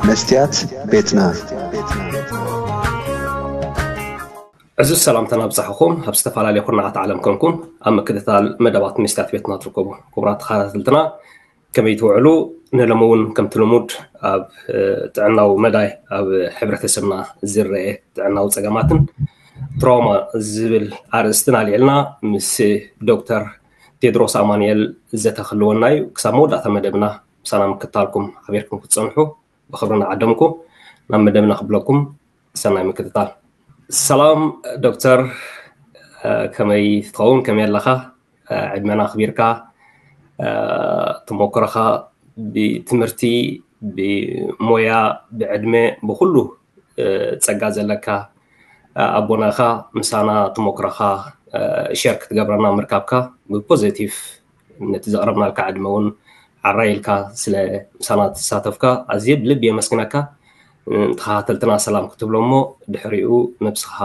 መስትያት ቤትና። ዕዙዝ ሰላምታና ኣብጻሕኹም ኣብ ዝተፈላለዩ ኩርናዓት ዓለም ኮንኩም ኣብ ምክትታል መደባት መስትያት ቤትና ትርከቡ። ክቡራት ተኸታተልትና፣ ከመይ ትውዕሉ? ንሎሚ እውን ከምቲ ልሙድ ኣብ ጥዕናዊ መዳይ ኣብ ሕብረተሰብና ዝረአ ጥዕናዊ ጸገማትን ትራውማ ዝብል ኣርእስትን ኣልዒልና ምስ ዶክተር ቴድሮስ ኣማኑኤል ዘተ ክህልወና እዩ። ክሳብ መወዳእታ መደብና ምሳና ምክትታልኩም ሓቢርኩም ክትጸንሑ ብኽብሪ ንዓደምኩ። ናብ መደብና ክብለኩም ሰናይ ምክትታል። ሰላም ዶክተር፣ ከመይ ትኸውን? ከመይ ኣለኻ? ዕድመና ኣኽቢርካ ተሞክሮኻ ብትምህርቲ፣ ብሞያ፣ ብዕድመ፣ ብኹሉ ጸጋ ዘለካ ኣቦና ኢኻ። ምሳና ተሞክሮኻ ሸር ክትገብረና ምርካብካ ብፖዘቲቭ ነቲ ዘቕረብናልካ ዕድመ እውን ዓራይ ኢልካ ስለ ምሳና ተሳተፍካ ኣዝየ ብልቢ የመስግነካ። ንተኸታተልትና ሰላም ክትብሎ እሞ ድሕሪኡ ነብስኻ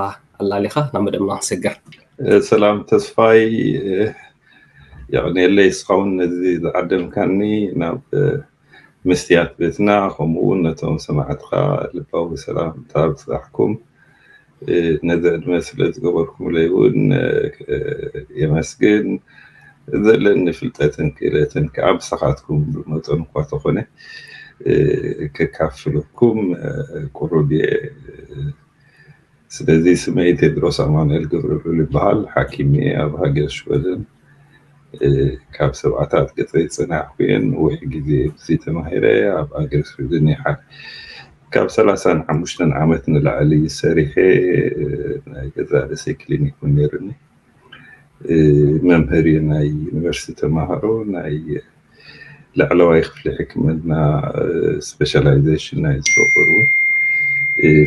ኣላሊኻ ናብ መደብና ክንሰግር። ሰላም ተስፋይ፣ የቕንየለይ እስኻ እውን ነዚ ዝዓደምካኒ ናብ መስትያት ቤትና፣ ከምኡ እውን ነቶም ሰማዕትኻ ልባዊ ሰላምታ ኣብጽሓኩም። ነዚ ዕድመ ስለ ዝገበርኩምለይ እውን የመስግን። ዘለኒ ፍልጠትን ክእለትን ከዓ ብሳኻትኩም ብመጠኑ እኳ ተኾነ ከካፍለኩም ቁሩብ እየ። ስለዚ ስመይ ቴድሮስ ኣማኑኤል ገብረልዑል ይበሃል። ሓኪም እየ ኣብ ሃገር ሽወደን። ካብ ሰብዓታት ገጸይ ዝጸናሕኩ እየ። ነዊሕ ግዜ ኣብዚ ተማሂረ ኣብ ሃገር ሽወደን እየ። ካብ ሰላሳን ሓሙሽተን ዓመት ንላዕሊ ሰሪሐ ናይ ገዛእ ርእሰይ ክሊኒክ እውን ነይሩኒ። መምህር እየ፣ ናይ ዩኒቨርሲቲ ተማሃሮ፣ ናይ ላዕለዋይ ክፍሊ ሕክምና ስፔሻላይዜሽን ናይ ዝገበሩ እውን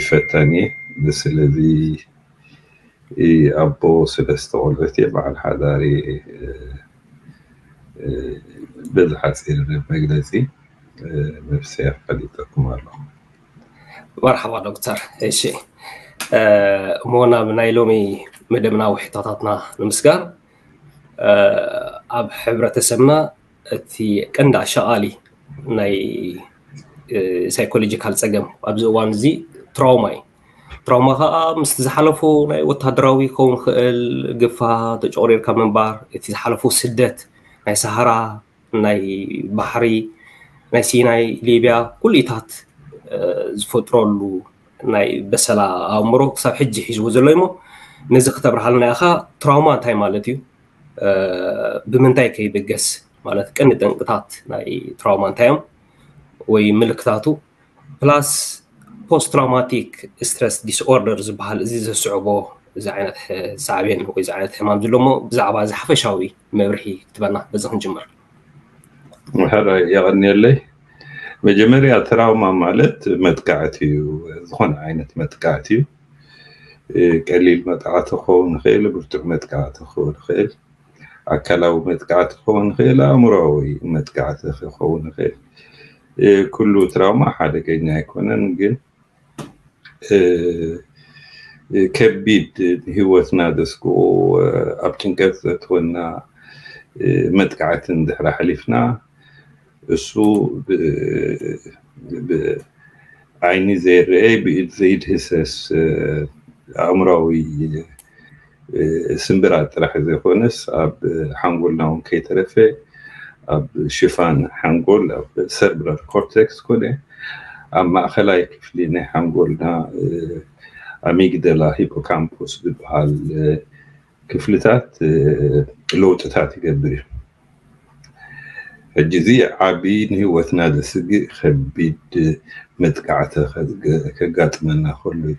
ፈታኒ እየ። ስለዚ ኣቦ ሰለስተ ቆልዑት እየ፣ በዓል ሓዳር እየ። በዚ ሓፂር መግለፂ ነብሰይ ኣፋሊጠኩም ኣለኹ። መርሓባ ዶክተር። እሺ፣ እሞ ናብ ናይ ሎሚ መደብናዊ ሕቶታትና ንምስጋር፣ ኣብ ሕብረተሰብና እቲ ቀንዲ ኣሻቓሊ ናይ ሳይኮሎጂካል ጸገም ኣብዚ እዋን እዚ ትራውማ እዩ። ትራውማ ከዓ ምስቲ ዝሓለፉ ናይ ወታደራዊ ክኸውን ክእል፣ ግፋ፣ ተጨቑሪርካ ምንባር፣ እቲ ዝሓለፉ ስደት ናይ ሰሃራ፣ ናይ ባሕሪ፣ ናይ ሲናይ፣ ሊብያ፣ ኩሉታት ዝፈጥረሉ ናይ በሰላ ኣእምሮ ክሳብ ሕጂ ሒዝዎ ዘሎ እሞ ነዚ ክተብርሃልና ኢኻ። ትራውማ እንታይ ማለት እዩ? ብምንታይ ከይብገስ ማለት ቀንዲ ጠንቅታት ናይ ትራውማ እንታይ እዮም ወይ ምልክታቱ? ፕላስ ፖስት ትራውማቲክ ስትረስ ዲስኦርደር ዝበሃል እዚ ዘስዕቦ እዚ ዓይነት ሳዕቤን ወይ እዚ ዓይነት ሕማም ዘሎ እሞ ብዛዕባ እዚ ሓፈሻዊ መብርሂ ክትበና በዚ ክንጅምር። ሕራይ የቐንየለይ። መጀመርያ ትራውማ ማለት መጥቃዕቲ እዩ። ዝኾነ ዓይነት መጥቃዕቲ እዩ። ቀሊል መጥቃዕቲ ክኸውን ይኽእል፣ ብርቱዕ መጥቃዕቲ ክኸውን ይኽእል፣ ኣካላዊ መጥቃዕቲ ክኸውን ይኽእል፣ ኣእምሮዊ መጥቃዕቲ ክኸውን ይኽእል። ኩሉ ትራውማ ሓደገኛ ኣይኮነን፣ ግን ከቢድ ንህይወትና ዘስግኡ ኣብ ጭንቀት ዘእትወና መጥቃዕቲ እንድሕር ኣሕሊፍና እሱ ብዓይኒ ዘይረአ ብኢድ ዘይድህሰስ ኣእምራዊ ስምብራት ጥራሕ ዘይኮነስ ኣብ ሓንጎልና እውን ከይተረፈ ኣብ ሽፋን ሓንጎል ኣብ ሰርብራል ኮርቴክስ ኮነ ኣብ ማእኸላይ ክፍሊ ናይ ሓንጎልና ኣሚግደላ ሂፖካምፖስ ዝበሃል ክፍልታት ለውጥታት ይገብር እዩ። ሕጂ እዚ ዓቢ ንህይወትና ዘስግእ ከቢድ መጥቃዕቲ ከጋጥመና ከሎ እዩ።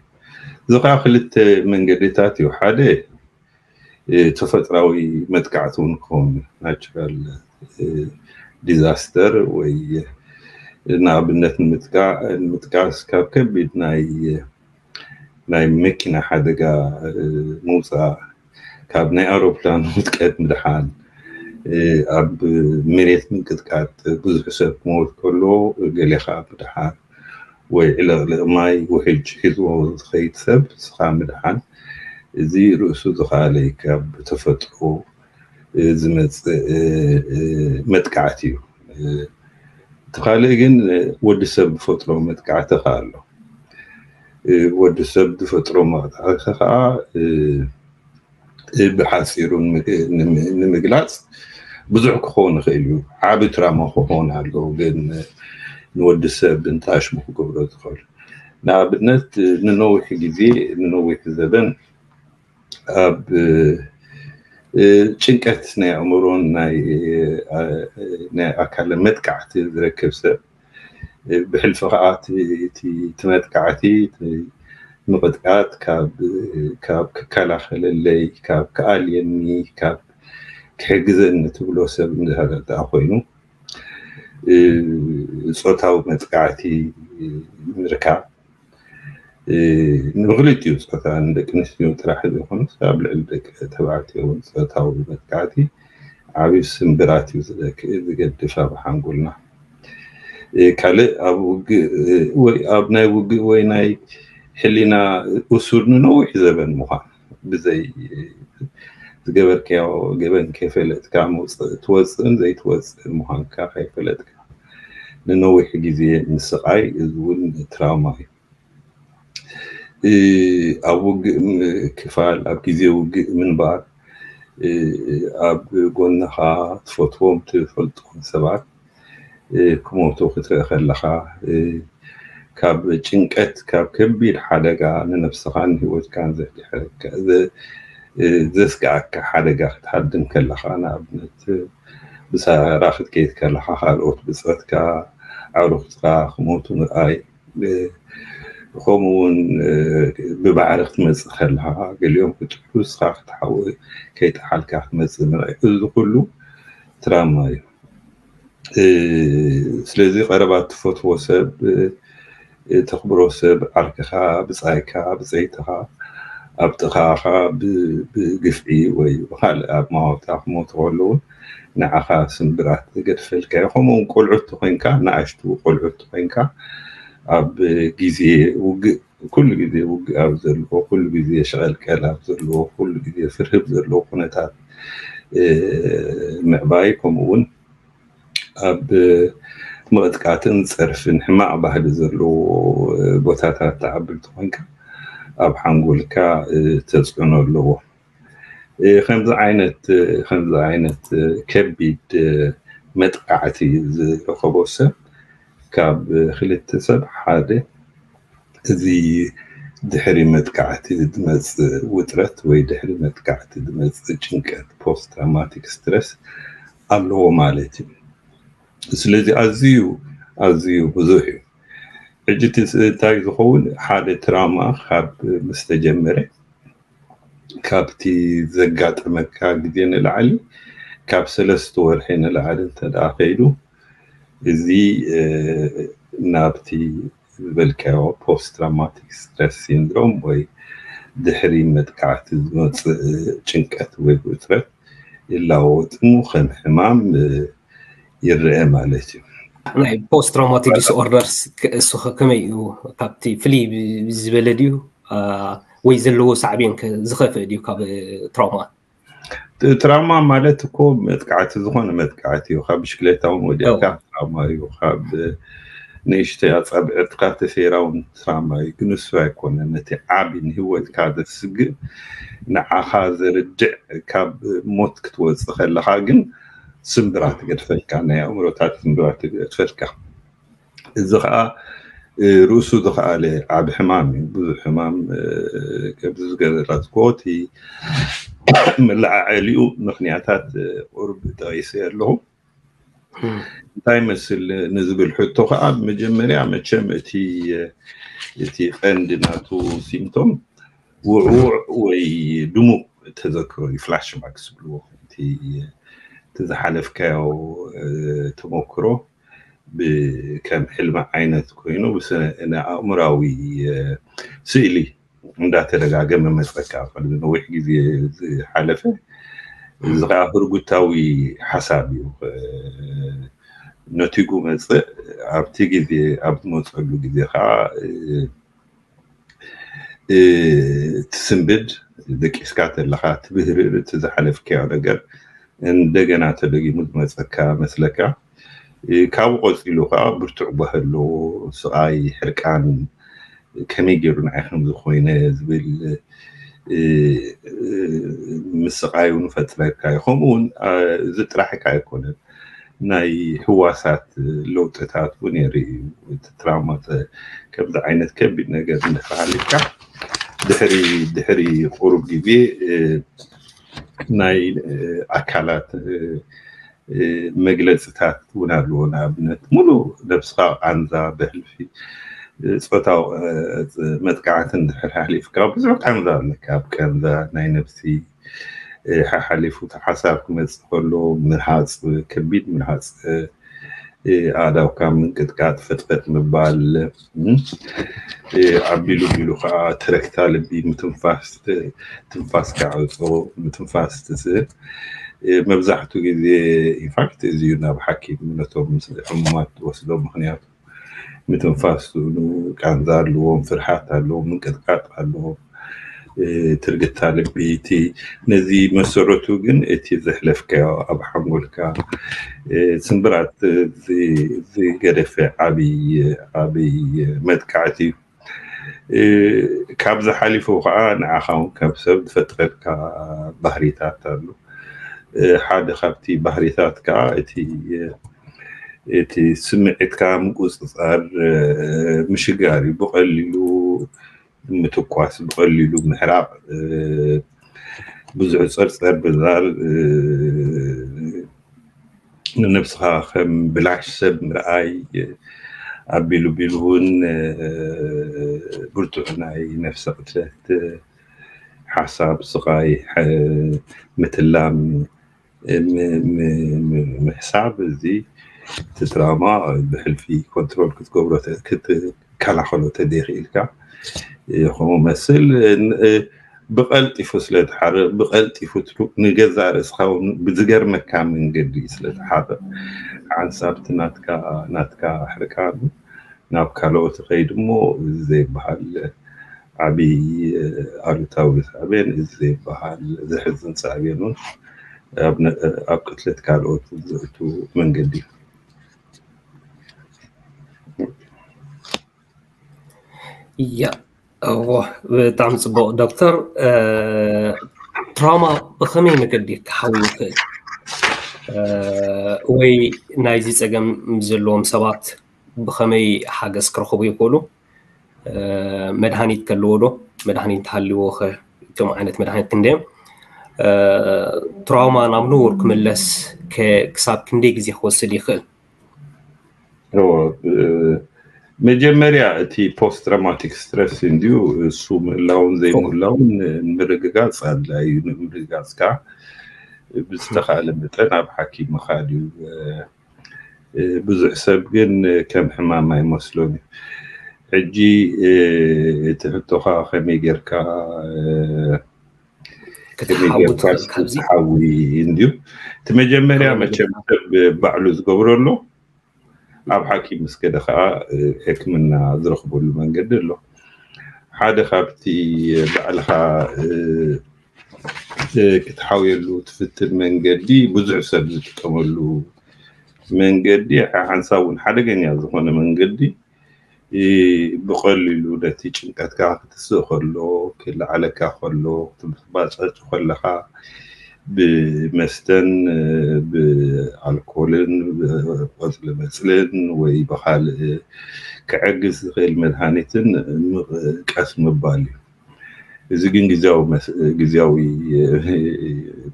እዚ ከዓ ክልተ መንገድታት እዩ። ሓደ ተፈጥራዊ መጥቃዕቲ እውን ክኸውን ናቹራል ዲዛስተር ወይ ንኣብነት ንምጥቃስ ካብ ከቢድ ናይ ናይ መኪና ሓደጋ ምውፃእ፣ ካብ ናይ ኣውሮፕላን ውድቀት ምድሓን፣ ኣብ መሬት ምንቅጥቃጥ ብዙሕ ሰብ ክመውት ከሎ ገሌኻ ምድሓን ወይ ዕልቕልቕ ማይ ውሕጅ ሒዝዎ ዝኸይድ ሰብ ንስኻ ምድሓን፣ እዚ ርእሱ ዝኸኣለ እዩ። ካብ ተፈጥሮ ዝመፅእ መጥቃዕቲ እዩ። እቲ ካልእ ግን ወዲ ሰብ ዝፈጥሮ መጥቃዕቲ ከኣ ኣሎ። ወዲ ሰብ ዝፈጥሮ መጥቃዕቲ ከኣ ብሓፂሩ ንምግላፅ ብዙሕ ክኸውን ይኽእል እዩ። ዓቢ ትራማ ክኸውን ኣሎ፣ ግን ንወዲ ሰብ እንታይ ሽሙ ክገብሮ ዝኽእል? ንኣብነት ንነዊሕ ግዜ ንነዊሕ ዘበን ኣብ ጭንቀት ናይ ኣእምሮን ናይ ኣካልን መጥቃዕቲ ዝረክብ ሰብ፣ ብሕልፊ ከዓ እቲ መጥቃዕቲ ምቕጥቃጥ ካብ ክከላኸለለይ፣ ካብ ክኣልየኒ፣ ካብ ክሕግዘኒ ትብሎ ሰብ እንድሕር ደኣ ኮይኑ፣ ፆታዊ መጥቃዕቲ ምርካብ ንክልቲኡ ፆታ፣ ንደቂ ኣንስትዮ ጥራሕ ዘይኮነስ ኣብ ልዕሊ ደቂ ተባዕትዮ እውን ፆታዊ መጥቃዕቲ ዓብዪ ስምብራት እዩ ዝገድፍ ኣብ ሓንጎልና። ካልእ ኣብ ውግእ ወይ ኣብ ናይ ውግእ ወይ ናይ ሕሊና እሱር ንነዊሕ ዘበን ምዃን፣ ብዘይ ዝገበርካዮ ገበን ከይፈለጥካ ትወፅእን ዘይትወፅእን ምዃንካ ከይፈለጥካ ንነዊሕ ግዜ ምስቓይ፣ እዚ እውን ትራውማ እዩ። ኣብ ውግእ ክፋል፣ ኣብ ግዜ ውግእ ምንባር፣ ኣብ ጎንኻ ትፈትዎም ትፈልጦም ሰባት ክሞቱ ክትርኢ ከለኻ፣ ካብ ጭንቀት፣ ካብ ከቢድ ሓደጋ ንነብስኻን ንህይወትካን ዘስግኣካ ሓደጋ ክትሃድም ከለኻ፣ ንኣብነት ብሳራ ክትከይድ ከለኻ፣ ካልኦት ብፅረትካ፣ ኣዕሩኽትካ ክሞቱ ምርኣይ፣ ከምኡ እውን ብባዕሪ ክትመፅእ ከለኻ፣ ገሊኦም ክጥሕሉ፣ ንስኻ ክትሓው ከይጠሓልካ ክትመፅእ ምርኣይ፣ እዚ ኩሉ ትራማ እዩ። ስለዚ ቀረባ ትፈትዎ ሰብ፣ ተኽብሮ ሰብ፣ ዓርክኻ፣ ብፃይካ፣ ብፀይትኻ፣ ኣብ ጥቓኻ ብግፍዒ ወይ ብካልእ ኣማውታ ክሞቱ ከለዉ ንዓኻ ስምብራት ዝገድፈልካ እዩ። ከምኡ እውን ቆልዑት ተኾይንካ፣ ንኣሽቱ ቆልዑት ተኾይንካ፣ ኣብ ግዜ ውግእ፣ ኩሉ ግዜ ውግእ ኣብ ዘለዎ፣ ኩሉ ግዜ ሸቐልቀል ኣብ ዘለዎ፣ ኩሉ ግዜ ፍርህብ ዘለዎ ኩነታት ምዕባይ፣ ከምኡ እውን ኣብ ምቕጥቃጥን ፀርፍን ሕማቕ ባህሊ ዘለዎ ቦታታት ትዓቢ እንተኾይንካ፣ ኣብ ሓንጎልካ ተፅዕኖ ኣለዎ። ከምዚ ዓይነት፣ ከምዚ ዓይነት ከቢድ መጥቃዕቲ ዝረኸቦ ሰብ፣ ካብ ክልተ ሰብ ሓደ፣ እዚ ድሕሪ መጥቃዕቲ ዝመፅእ ውጥረት ወይ ድሕሪ መጥቃዕቲ ዝመፅእ ጭንቀት፣ ፖስት ትራውማቲክ ስትረስ፣ ኣለዎ ማለት እዩ። ስለዚ ኣዝዩ፣ ኣዝዩ ብዙሕ እዩ። ሕጂ እቲ እንታይ ዝኸውን፣ ሓደ ትራውማ ካብ ምስ ተጀመረ፣ ካብቲ ዘጋጠመካ ግዜ ንላዕሊ፣ ካብ ሰለስተ ወርሒ ንላዕሊ እንተ ደኣ ከይዱ፣ እዚ ናብቲ ዝበልካዮ ፖስት ትራውማቲክ ስትረስ ሲንድሮም ወይ ድሕሪ መጥቃዕቲ ዝመፅእ ጭንቀት ወይ ውጥረት ይላወጥ እሞ ከም ሕማም ይረአ ማለት እዩ። ናይ ፖስት ትራውማቲክ ዲስኦርደርስ እሱ ከመይ እዩ? ካብቲ ፍልይ ዝበለ ድዩ ወይ ዘለዎ ሳዕቤን ዝኸፍእ ድዩ ካብ ትራውማ? ትራውማ ማለት እኮ መጥቃዕቲ፣ ዝኾነ መጥቃዕቲ እዩ። ካብ ብሽክሌታ እውን ወዲቕካ ትራውማ እዩ። ካብ ንእሽተይ ኣፃብዕትካ ተሰይራ እውን ትራውማ እዩ። ግን እሱ ኣይኮነን። እቲ ዓቢ ንህይወትካ ዘስግእ፣ ንዓኻ ዘርድዕ፣ ካብ ሞት ክትወፅእ ከለኻ ግን ስምብራት ገድፈልካ፣ ናይ ኣእምሮታት ስምብራት ገድፈልካ። እዚ ከዓ ርእሱ ዝኸኣለ ዓቢ ሕማም እዩ። ብዙሕ ሕማም፣ ከምዚ ዝገለፅክዎ፣ እቲ መለዓዓሊኡ ምኽንያታት ቁሩብ ጠቒሰ ኣለኹ። እንታይ ይመስል ንዝብል ሕቶ ከዓ፣ መጀመርያ መቸም እቲ፣ እቲ ቀንዲ ናቱ ሲምቶም ውዕዉዕ ወይ ድሙቕ ተዘክሮ እዩ፣ ፍላሽባክ ዝብልዎ። እቲ ዝሓለፍካዮ ተመክሮ ከም ሕልሚ ዓይነት ኮይኑ፣ ንኣእምራዊ ስእሊ እንዳተደጋገመ መፀካ። ቅድሚ ነዊሕ ግዜ ዝሓለፈ፣ እዚ ከዓ ህርጉታዊ ሓሳብ እዩ። ነቲጉ መፅእ፣ ኣብቲ ግዜ፣ ኣብ ዝመፀሉ ግዜ ከዓ ትስንብድ፣ ደቂስካ ተለኻ ትብህርር፣ እቲ ዝሓለፍካዮ ነገር እንደገና ተደጊሙ ዝመፀካ መስለካ። ካብኡ ቀፂሉ ከዓ ብርቱዕ ጓሂ ኣለዎ። ስቓይ፣ ሕርቃን፣ ከመይ ገይሩ ንዓይ ከምዚ ኮይነ ዝብል ምስቓይ እውን ፈጥረካ እዩ። ከምኡ እውን እዚ ጥራሕ እካ ኣይኮነን፣ ናይ ህዋሳት ለውጥታት እውን የርኢ እዩ። እቲ ትራውማ ከምዚ ዓይነት ከቢድ ነገር እንድሕር ሃሊፍካ ድሕሪ ድሕሪ ቁሩብ ግዜ ናይ ኣካላት መግለፅታት እውን ኣለዎ። ንኣብነት ሙሉእ ነብስኻ ቃንዛ፣ ብሕልፊ ፆታዊ መጥቃዕቲ እንድሕር ሓሊፍካ ብዙሕ ቃንዛ ኣለካ። ኣብ ቃንዛ ናይ ነብሲ ሓሓሊፉ እቲ ሓሳብ ክመፅእ ከሎ ምርሃፅ፣ ከቢድ ምርሃፅ፣ ኣእዳውካ ምንቅጥቃጥ፣ ፈጥፈጥ ምባል፣ ኣቢሉ ቢሉ ከዓ ትረክታ ልቢ ምትንፋስ፣ ትንፋስካ ዕፆ፣ ምትንፋስ ትስእል። መብዛሕትኡ ግዜ ኢንፋክት እዚ እዩ ናብ ሓኪም ነቶም ሕሙማት ትወስዶ። ምክንያቱ ምትንፋስ ስእኑ ቃንዛ ኣለዎም፣ ፍርሓት ኣለዎም፣ ምንቅጥቃጥ ኣለዎም፣ ትርግታ ልቢ። እቲ ነዚ መሰረቱ ግን እቲ ዘሕለፍካዮ ኣብ ሓንጎልካ ስምብራት ዝገደፈ ዓብይ ዓብይ መጥቃዕቲ እዩ። ካብዚ ሓሊፉ ከዓ ንዓኻ እውን ከም ሰብ ዝፈጥረልካ ባህሪታት ኣሎ። ሓደ ካብቲ ባህሪታት ከዓ እቲ እቲ ስምዒትካ ምቁፅፃር ምሽጋር እዩ። ብቐሊሉ ምትኳስ፣ ብቐሊሉ ምሕራቕ፣ ብዙሕ ፀርፀር ምባል፣ ንነብስኻ ከም ብላሽ ሰብ ምርኣይ፣ ኣቢሉ ቢሉ እውን ብርቱዕ ናይ ነፍሰ ቅትለት ሓሳብ፣ ስቓይ፣ ምትላም፣ ምሕሳብ፣ እዚ እቲ ትራውማ ብሕልፊ ኮንትሮል ክትገብሮ ክትከላኸሎ ተደይኽኢልካ ከምኡ መስል ብቐልጢፉ ስለ ዝሓርቕ፣ ብቐልጢፉ ንገዛእ ርእስኻ እውን ብዝገርመካ መንገዲ ስለ ዝሓርቕ፣ ሓንሳብ እቲ ናትካ ናትካ ሕርቃን ናብ ካልኦት ይኸይድ እሞ፣ እዚ ዘይበሃል ዓብዪ ኣሉታዊ ሳዕቤን፣ እዚ ዘይበሃል ዘሕዝን ሳዕቤን እውን ኣብ ቅትለት ካልኦት ዘእቱ መንገዲ እዩ። ያ እዎ፣ ብጣዕሚ ፅቡቕ ዶክተር። ትራውማ ብኸመይ መገዲ ክሓዊ ይኽእል? ወይ ናይዚ ፀገም ዘለዎም ሰባት ብኸመይ ሓገዝ ክረኽቡ ይኽእሉ? መድሃኒት ከለዎ ዶ? መድሃኒት እንተሃልዎ ኸ እቶም ዓይነት መድሃኒት ክንደዮም? ትራውማ ናብ ንቡር ክምለስ ክሳብ ክንደይ ግዜ ክወስድ ይኽእል? መጀመርያ እቲ ፖስት ትራውማቲክ ስትረስ እንድዩ፣ እሱ ምህላውን ዘይምህላውን ንምርግጋፅ ኣድላይ እዩ። ንምርግጋፅ ከዓ ብዝተኻእለ መጠን ኣብ ሓኪም ምኻድ እዩ። ብዙሕ ሰብ ግን ከም ሕማም ኣይመስሎን እዩ። ሕጂ እቲ ሕቶኻ ከመይ ጌርካ ክትሓዊ እንድዩ፣ እቲ መጀመርያ መቸም ሰብ ባዕሉ ዝገብሮ ኣሎ። ኣብ ሓኪም ምስ ከደ ከዓ ሕክምና ዝረኽበሉ መንገዲ ኣሎ። ሓደ ካብቲ ባዕልኻ ክትሓውየሉ ትፍትን መንገዲ፣ ብዙሕ ሰብ ዝጥቀመሉ መንገዲ፣ ሓንሳብ እውን ሓደገኛ ዝኾነ መንገዲ፣ ብቐሊሉ ነቲ ጭንቀትካ ክትስእ ከሎ፣ ክለዓለካ ከሎ፣ ክትባፀጭ ከለኻ ብመስተን ብኣልኮልን ብቆፅሊ መፅልን ወይ ብካልእ ክዕግስ ዝኽእል መድሃኒትን ቀስ ምባል እዩ። እዚ ግን ግዝያዊ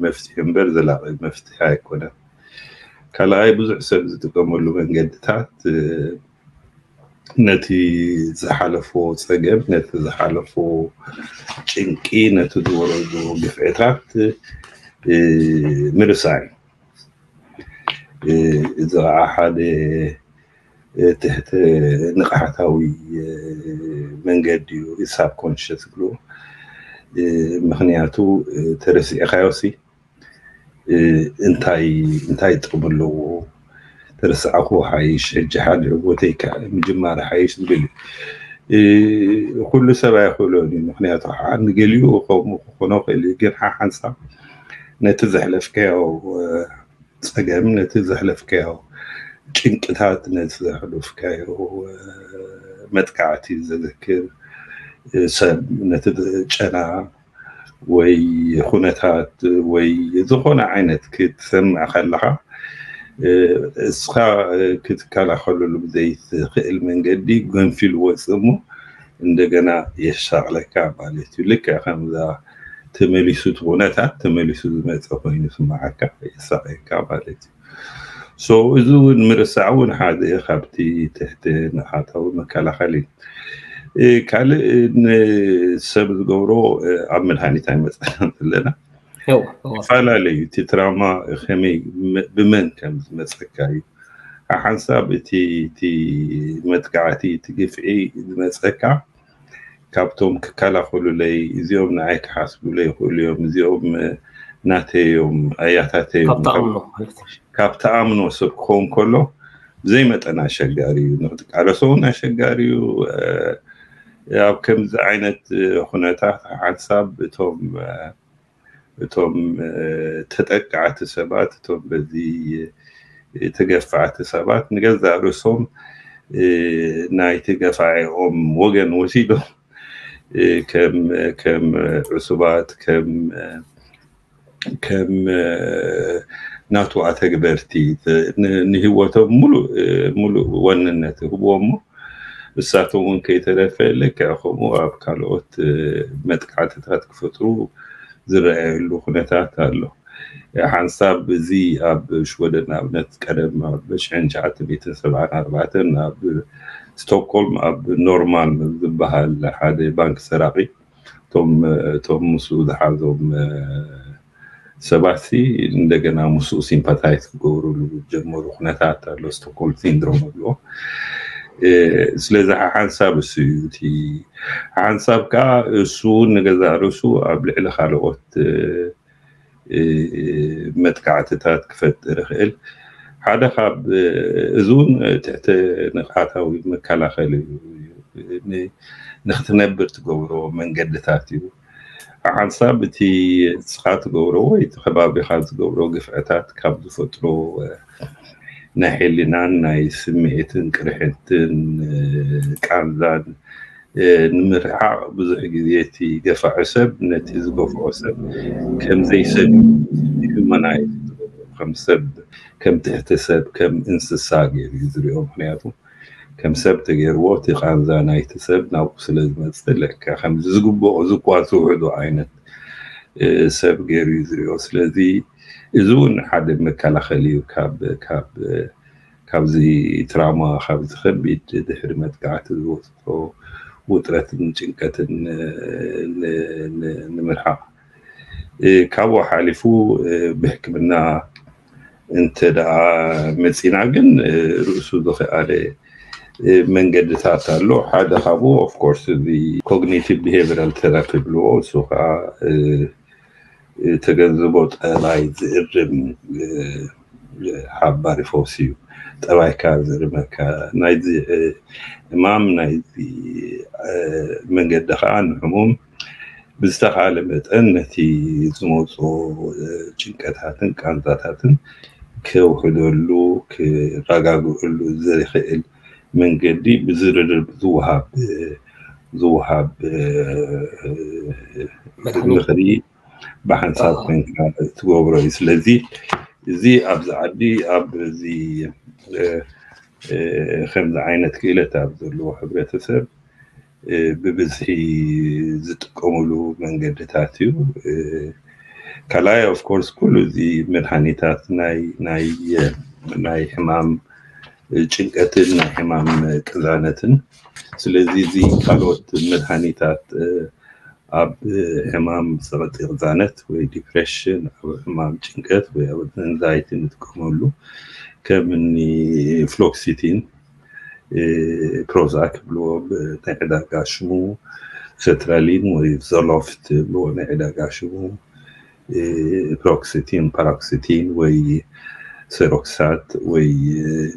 መፍትሒ እምበር ዘላቒ መፍትሒ ኣይኮነን። ካልኣይ፣ ብዙሕ ሰብ ዝጥቀመሉ መንገድታት ነቲ ዝሓለፎ ፀገም፣ ነቲ ዝሓለፎ ጭንቂ፣ ነቲ ዝወረዶ ግፍዕታት ምርሳይ እዩ። እዚ ከዓ ሓደ ትሕቲ ንቕሓታዊ መንገዲ እዩ፣ ሳብኮንሽስ ክብሉ። ምክንያቱ ተረሲዕካዮሲ እንታይ እንታይ ጥቕሚ ኣለዎ? ተረሳዕኩ ሓይሽ፣ ሕጂ ሓደ ቦተይ ምጅማር ሓይሽ ዝብል እዩ። ኩሉ ሰብ ኣይኽእሎን እዩ። ምክንያቱ ንገሊኡ ከምኡ ክኾኖ ክእል እዩ፣ ግን ሓሓንሳብ ነቲ ዘሕለፍካዮ ፀገም፣ ነቲ ዘሕለፍካዮ ጭንቅታት ነቲ ዘሕለፍካዮ መጥቃዕቲ ዘዘክር፣ ሰብ ነቲ ጨና ወይ ኩነታት ወይ ዝኾነ ዓይነት ክትሰምዕ ከለኻ፣ እስኻ ክትከላኸለሉ ብዘይትኽእል መንገዲ ገንፊሉ ወፅእ እሞ እንደገና የሻቕለካ ማለት እዩ። ልክዕ ከምዛ ተመሊሱ እቲ ኩነታት ተመሊሱ ዝመፀ ኮይኑ ስምዓካ የሳቕየካ ማለት እዩ። So እዚ እውን ምርሳዕ እውን ሓደ ካብቲ ትሕቲ ንቕሓታዊ መከላኸሊ እዩ። ካልእ ንሰብ ዝገብሮ ኣብ መድሃኒት ኣይመፀናን ዘለና። ይፈላለዩ እቲ ትራማ ከመይ ብመን ከም ዝመፀካ እዩ። ሓንሳብ እቲ መጥቃዕቲ እቲ ግፍዒ ዝመፀካ ካብቶም ክከላኸሉለይ እዚኦም ንዓይ ክሓስቡለይ ይኽእሉ እዮም፣ እዚኦም ናተይ እዮም ኣያታተይ እዮም ካብ ትኣምኖ ሰብ ክኸውን ከሎ ብዘይ መጠን ኣሸጋሪ እዩ። ንክትቃለሶ እውን ኣሸጋሪ እዩ። ኣብ ከምዚ ዓይነት ኩነታት ሓንሳብ እቶም እቶም ተጠቃዕቲ ሰባት እቶም በዚ ተገፋዕቲ ሰባት ንገዛእ ርእሶም ናይቲ ገፋዒኦም ወገን ወሲዶም ከም ዕሱባት ከም ከም ናቱ ኣተግበርቲ ንህይወቶም ሙሉእ ዋንነት ይህብዎ እሞ እሳቶም እውን ከይተረፈ ልክዕ ከምኡ ኣብ ካልኦት መጥቃዕትታት ክፈጥሩ ዝረኣየሉ ኩነታት ኣሎ። ሓንሳብ እዚ ኣብ ሽወደን ንኣብነት ቀደም ኣብ ሽሕን ትሽዓተ ሚእትን ሰብዓን ኣርባዕተን ኣብ ስቶክሆልም ኣብ ኖርማልም ዝበሃል ሓደ ባንክ ሰራቒ እቶም ምስኡ ዝሓዞም ሰባት እንደገና ምስኡ ሲምፓታይዝ ክገብሩሉ ዝጀመሩ ኩነታት ኣሎ። ስቶክሆልም ሲንድሮም ኣብልዎ። ስለዚ ሓንሳብ እሱ እዩ እቲ ሓንሳብ ከዓ እሱ እውን ንገዛእ ርእሱ ኣብ ልዕሊ ካልኦት መጥቃዕትታት ክፈጥር ይኽእል። ሓደ ካብ እዚ እውን ትሕቲ ንቕሓታዊ መከላኸሊ እዩ። ንክትነብር ትገብሮ መንገድታት እዩ። ሓንሳብ እቲ ንስኻ ትገብሮ ወይ እቲ ከባቢኻ ዝገብሮ ግፍዕታት ካብ ዝፈጥሮ ናይ ሕሊናን ናይ ስምዒትን ቅርሕንትን ቃንዛን ንምርሓቕ ብዙሕ ግዜ እቲ ገፋዒ ሰብ ነቲ ዝገፍዖ ሰብ ከምዘይሰብ ሂዩማናይዝ ከም ሰብ ከም ትሕቲ ሰብ ከም እንስሳ ገይሩ እዩ ዝሪኦ። ምክንያቱ ከም ሰብ ተገይርዎ እቲ ቃንዛ ናይቲ ሰብ ናብኡ ስለ ዝመፅእ ልክዕ ከምዚ ዝግብኦ ዝኳ ዝውሕዶ ዓይነት ሰብ ገይሩ እዩ ዝሪኦ። ስለዚ እዚ እውን ሓደ መከላኸሊ እዩ ካብ ካብ ካብዚ ትራማ ካብዚ ከቢድ ድሕሪ መጥቃዕቲ ዝወፅኦ ውጥረትን ጭንቀትን ንምርሓቕ። ካብኡ ሓሊፉ ብሕክምና እንተ ደኣ መፂና ግን ርእሱ ዝኸኣለ መንገድታት ኣሎ። ሓደ ካብኡ ኦፍኮርስ እዚ ኮግኒቲቭ ቢሄቪራል ቴራፒ ብልዎ እሱ ከዓ ተገንዝቦ ጠባይ ዝእርም ሓባሪ ፈውሲ እዩ። ጠባይካ ዝእርመካ ናይዚ ሕማም ናይዚ መንገዲ ከዓ ንሕሙም ብዝተኻለ መጠን ነቲ ዝመፆ ጭንቀታትን ቃንዛታትን ከውሕደሉ ክረጋግዕሉ ዝኽእል መንገዲ ብዝርርብ ዝወሃብ ዝወሃብ ምኽሪ ብሓንሳብ ኮንካ ትገብሮ እዩ። ስለዚ እዚ ኣብዚ ዓዲ ኣብዚ ከምዚ ዓይነት ክእለት ኣብ ዘለዎ ሕብረተሰብ ብብዝሒ ዝጥቀምሉ መንገድታት እዩ። ካልኣይ ኦፍኮርስ ኩሉ እዚ መድሃኒታት ናይ ናይ ናይ ሕማም ጭንቀትን ናይ ሕማም ቅዛነትን ስለዚ እዚ ካልኦት መድሃኒታት ኣብ ሕማም ጸቕጢ ቅዛነት ወይ ዲፕሬሽን ኣብ ሕማም ጭንቀት ወይ ኣብ ኤንዛይቲ ንጥቀመሉ ከም እኒ ፍሎክሲቲን ፕሮዛክ ብልዎ ናይ ዕዳጋ ሽሙ፣ ሴትራሊን ወይ ዞሎፍት ብልዎ ናይ ዕዳጋ ሽሙ፣ ፕሮክሲቲን ፓሮክሲቲን ወይ ሴሮክሳት ወይ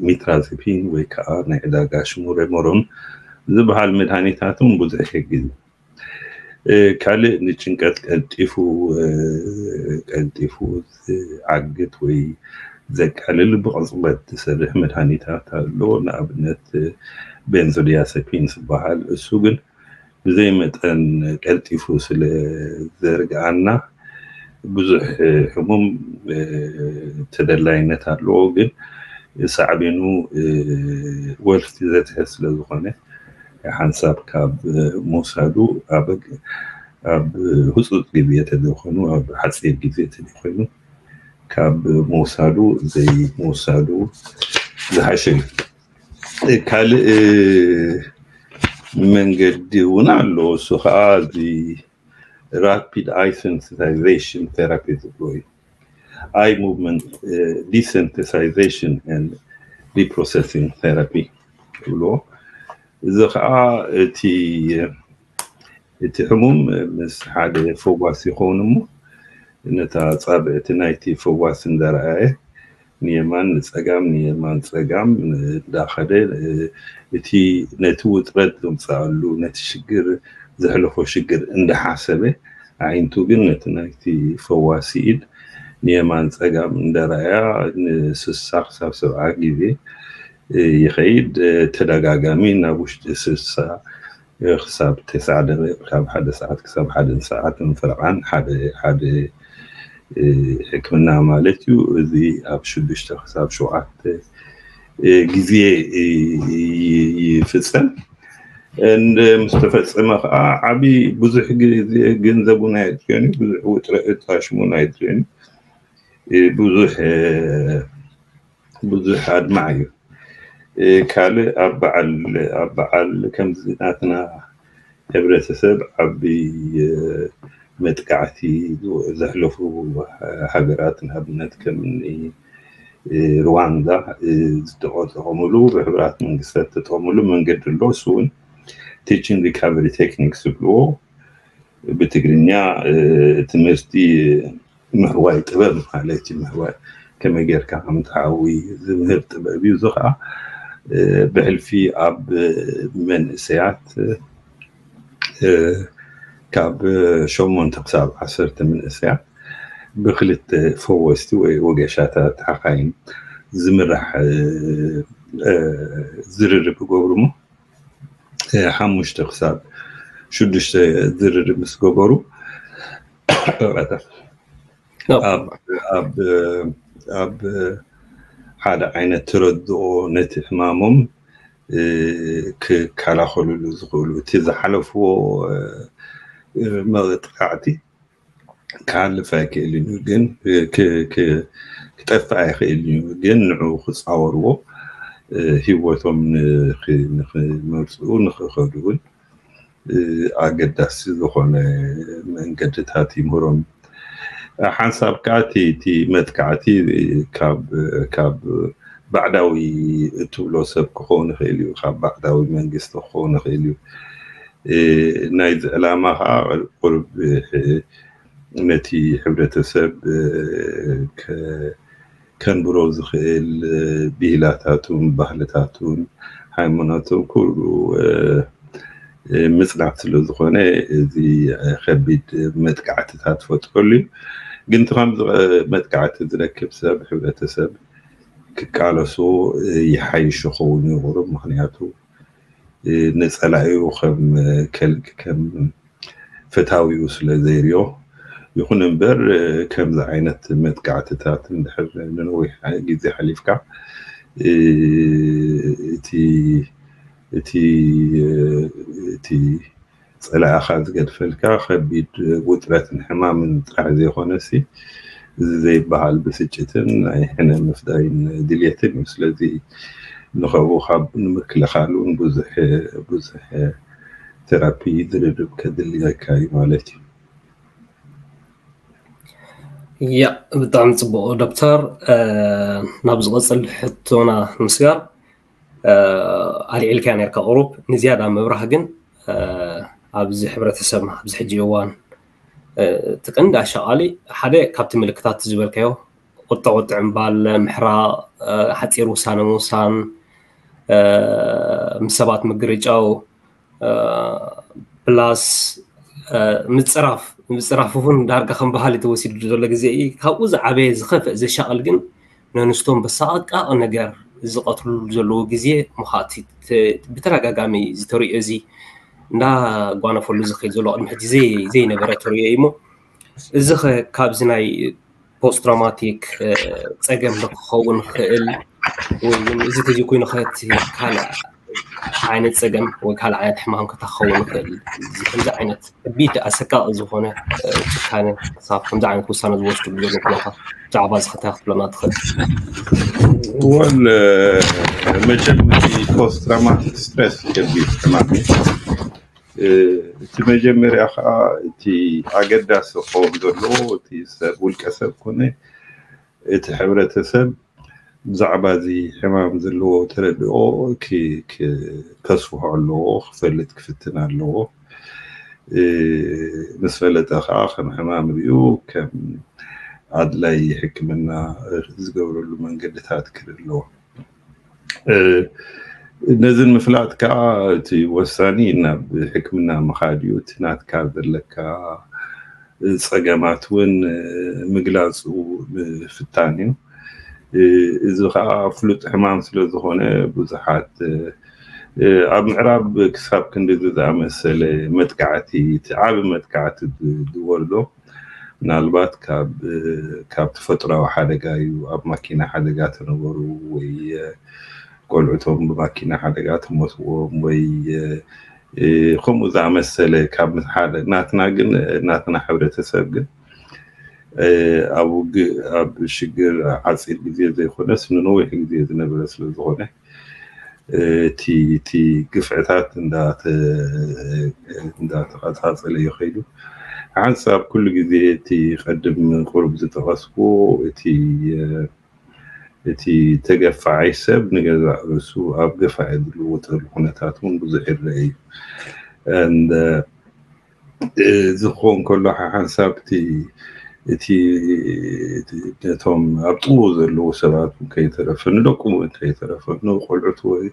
ሚትራዚፒን ወይ ከዓ ናይ ዕዳጋ ሽሙ ሬሞሮን ዝበሃል መድሃኒታት እውን ብዙሕ ይሕግዝ። ካልእ ንጭንቀት ቀልጢፉ ቀልጢፉ ዝዓግት ወይ ዘቃልል ብቕጽበት ዝሰርሕ መድሃኒታት ኣሎ። ንኣብነት ቤንዞዲያሰፒን ዝበሃል፣ እሱ ግን ብዘይ መጠን ቀልጢፉ ስለ ዘርግኣና ብዙሕ ሕሙም ተደላይነት ኣለዎ፣ ግን ሳዕቤኑ ወልፊ ዘትሕት ስለ ዝኾነ ሓንሳብ ካብ ምውሳዱ ኣብ ኣብ ህፁፅ ግዜ ተዘይኮይኑ ኣብ ሓፂር ግዜ ተዘይኮይኑ ካብ ምውሳዱ ዘይምውሳዱ ዝሓሸ እዩ። ካልእ መንገዲ እውን ኣሎ። እሱ ከዓ እዚ rapid eye sensitization therapy ዝብሎ እዩ። Eye movement desensitization and reprocessing therapy ይብልዎ። እዚ ከዓ እቲ እቲ ሕሙም ምስ ሓደ ፈዋሲ ይኸውን እሞ ነታ ፃብዕቲ ናይቲ ፈዋሲ እንዳረኣየ ንየማን ንፀጋም ንየማን ፀጋም እንዳኸደ እቲ ነቲ ውጥረት ዘምፀኣሉ ነቲ ሽግር ዘሕለፎ ሽግር እንዳሓሰበ ኣዒንቱ ግን ነቲ ናይቲ ፈዋሲ ኢድ ንየማን ፀጋም እንዳረኣያ ንስሳ ክሳብ ሰብዓ ግዜ ይኸይድ። ተደጋጋሚ ናብ ውሽጢ ስሳ ክሳብ ተስዓ ደቂቕ፣ ካብ ሓደ ሰዓት ክሳብ ሓደ ሰዓት ፈረቓን ሓደ ሓደ ሕክምና ማለት እዩ። እዚ ኣብ ሽዱሽተ ክሳብ ሸውዓተ ግዜ ይፍፀም። ምስ ተፈፀመ ከዓ ዓብዪ ብዙሕ ግዜ ገንዘቡን ኣየጥፍኦን እዩ፣ ብዙሕ ውጥረት ኣሽሙን ኣየጥፍኦን እዩ። ብዙሕ ብዙሕ ኣድማዕ እዩ። ካልእ ኣብ በዓል ኣብ በዓል ከምዚ ናትና ሕብረተሰብ ዓቢ መጥቃዕቲ ዘሕለፉ ሃገራት ንኣብነት ከም ሩዋንዳ ዝተጠቐሙሉ ብሕቡራት መንግስታት ዝተጠቐሙሉ መንገዲ ኣሎ። እሱ እውን teaching recovery techniques ዝብልዎ ብትግርኛ ትምህርቲ ምሕዋይ ጥበብ ማለት እዩ። ምሕዋይ ከመይ ጌርካ ከም ትሓዊ ዝምህር ጥበብ እዩ። እዚ ከዓ ብሕልፊ ኣብ መንእሰያት ካብ ሸሞንተ ክሳብ ዓሰርተ መንእሰያት ብክልተ ፈወስቲ ወይ ወገሻታት ሓኻይም ዝምራሕ ዝርርብ ይገብሩ እሞ ሓሙሽተ ክሳብ ሽዱሽተ ዝርርብ ምስ ገበሩ ኣብ ሓደ ዓይነት ተረድኦ ነቲ ሕማሞም ክከላኸሉሉ ዝኽእሉ እቲ ዝሓለፍዎ መጥቃዕቲ ክሓልፍ ኣይክእልን እዩ፣ ግን ክጠፍእ ኣይኽእልን እዩ፣ ግን ንዑ ክፃወርዎ ህይወቶም ንክመርፅኡ ንክኸዱ እውን ኣገዳሲ ዝኾነ መንገድታት ይምህሮም። ሓንሳብ ከዓ እቲ መጥቃዕቲ ካብ ባዕዳዊ እትብሎ ሰብ ክኸውን ይኽእል እዩ፣ ካብ ባዕዳዊ መንግስቲ ክኸውን ይኽእል እዩ። ናይዚ ዕላማ ከዓ ቁርብ ነቲ ሕብረተሰብ ከንብሮ ዝኽእል ብሂላታቱን ባህልታቱን ሃይማኖቱን ኩሉ ምፅናት ስለ ዝኾነ እዚ ከቢድ መጥቃዕትታት ፈጥረሉ እዩ። ግን እቲ ከምዚ መጥቃዕቲ ዝረክብ ሰብ ሕብረተሰብ ክቃለሶ ይሓይሽ ይኸውን እዩ ቁሩብ። ምኽንያቱ ንፀላኢኡ ከም ከልቂ ከም ፈታዊኡ ስለ ዘይርዮ። ይኹን እምበር ከምዚ ዓይነት መጥቃዕትታት እንድሕር ንነዊሕ ግዜ ሓሊፍካ እቲ እቲ እቲ ፀላኢኻ ዝገድፈልካ ከቢድ ውጥረትን ሕማምን ጥራሕ ዘይኮነሲ እዚ ዘይበሃል ብስጭትን ናይ ሕነ ምፍዳይን ድልየትን እዩ። ስለዚ ንኸብኡ ካብ ንምክልኻል እውን ብዙሕ ብዙሕ ቴራፒ ዝርርብ ከድልየካ እዩ ማለት እዩ። ያ ብጣዕሚ ፅቡቅ ዶክተር። ናብ ዝቐፅል ሕቶና ንምስጋር ኣልዒልካያ ነርካ ቁሩብ ንዝያዳ ምብራህ ግን ኣብዚ ሕብረተሰብና ኣብዚ ሕጂ እዋን እቲ ቀንዲ ኣሻቓሊ ሓደ ካብቲ ምልክታት ዝበልካዮ ቁጥዕ ቁጥዕ ምባል፣ ምሕራቕ፣ ሓፂር ውሳነ ምውሳን፣ ምስ ሰባት ምግርጫው፣ ፕላስ ምፅራፍ ምፅራፍ እውን ዳርጋ ከም ባህሊ ተወሲዱ ዘሎ ግዜ እዩ። ካብኡ ዝዓበየ ዝኸፍእ ዘሻቕል ግን ነንስቶም በሳቃቂ ነገር ዝቐትሉ ዘለዎ ግዜ ምዃኑ ብተደጋጋሚ ዝተሪኦ፣ እዚ እንዳጓነፈሉ ዝኸይድ ዘሎ ቅድሚ ሕጂ ዘይ- ዘይነበረ ተሪኦ እዩ። እሞ እዚ ኸ ካብዚ ናይ ፖስት ትራውማቲክ ጸገም ዶ ክኸውን ይኽእል? ወይ እውን እዚ ተዘይኮይኑ ኸ እቲ ካልእ ዓይነት ጸገም ወይ ካልእ ዓይነት ሕማም ከ እንታይ ክኸውን ይኽእል? እዚ ከምዚ ዓይነት ከቢድ ኣሰቃቂ ዝኾነ ጭካነ ክሳብ ከምዚ ዓይነት ውሳነ ዝወስድሉ ዘሎ ኩነታት ብዛዕባ እዚ ከ እንታይ ክትብለና ትኽእል? ወል መቸም እቲ ፖስት ትራውማቲክ ስትረስ ከቢድ ሕማም እዩ። እቲ መጀመርያ ከዓ እቲ ኣገዳሲ ክኸውን ዘለዎ እቲ ሰብ ውልቀ ሰብ ኮነ እቲ ሕብረተሰብ ብዛዕባ እዚ ሕማም ዘለዎ ተረድኦ ከስፍሖ ኣለዎ፣ ክፈልጥ ክፍትን ኣለዎ። ምስ ፈለጠ ከዓ ከም ሕማም ሪኡ ከም ኣድላይ ሕክምና ዝገብረሉ መንገድታት ክርኢ ኣለዎ። ነዚ ንምፍላጥ ከዓ እቲ ወሳኒ ናብ ሕክምና ምኻድ እዩ። እቲ ናትካ ዘለካ ፀገማት እውን ምግላፁ ምፍታን እዩ። እዚ ከዓ ፍሉጥ ሕማም ስለ ዝኾነ ብዙሓት ኣብ ምዕራብ ክሳብ ክንድዚ ዝኣመሰለ መጥቃዕቲ፣ እቲ ዓቢ መጥቃዕቲ ዝወርዶ ምናልባት ካብ ተፈጥሮዊ ሓደጋ እዩ። ኣብ ማኪና ሓደጋ ተነበሩ ወይ ቆልዑቶም ብማኪና ሓደጋ ተሞትዎም ወይ ከምኡ ዝኣመሰለ ካብ ሓደ ናትና ግን ናትና ሕብረተሰብ ግን ኣብ ውግእ ኣብ ሽግር ዓፂር ግዜ ዘይኮነስ ንነዊሕ ግዜ ዝነበረ ስለ ዝኾነ እቲ እቲ ግፍዕታት እንዳተቐፃፀለ እዩ ከይዱ። ሓንሳብ ኩሉ ግዜ እቲ ቀድም ቁሩብ ዝጠቐስኩ እቲ እቲ ተገፋዓይ ሰብ ንገዛእ ርእሱ ኣብ ገፋዒ ዝልወጠሉ ኩነታት እውን ብዙሕ ይረአ እዩ። ዝኸውን ከሎ ሓንሳብ እቲ እቲ ነቶም ኣብ ጥቕኡ ዘለዉ ሰባት እውን ከይተረፈ ንደቁ እውን ከይተረፈ ንቆልዑት ወይ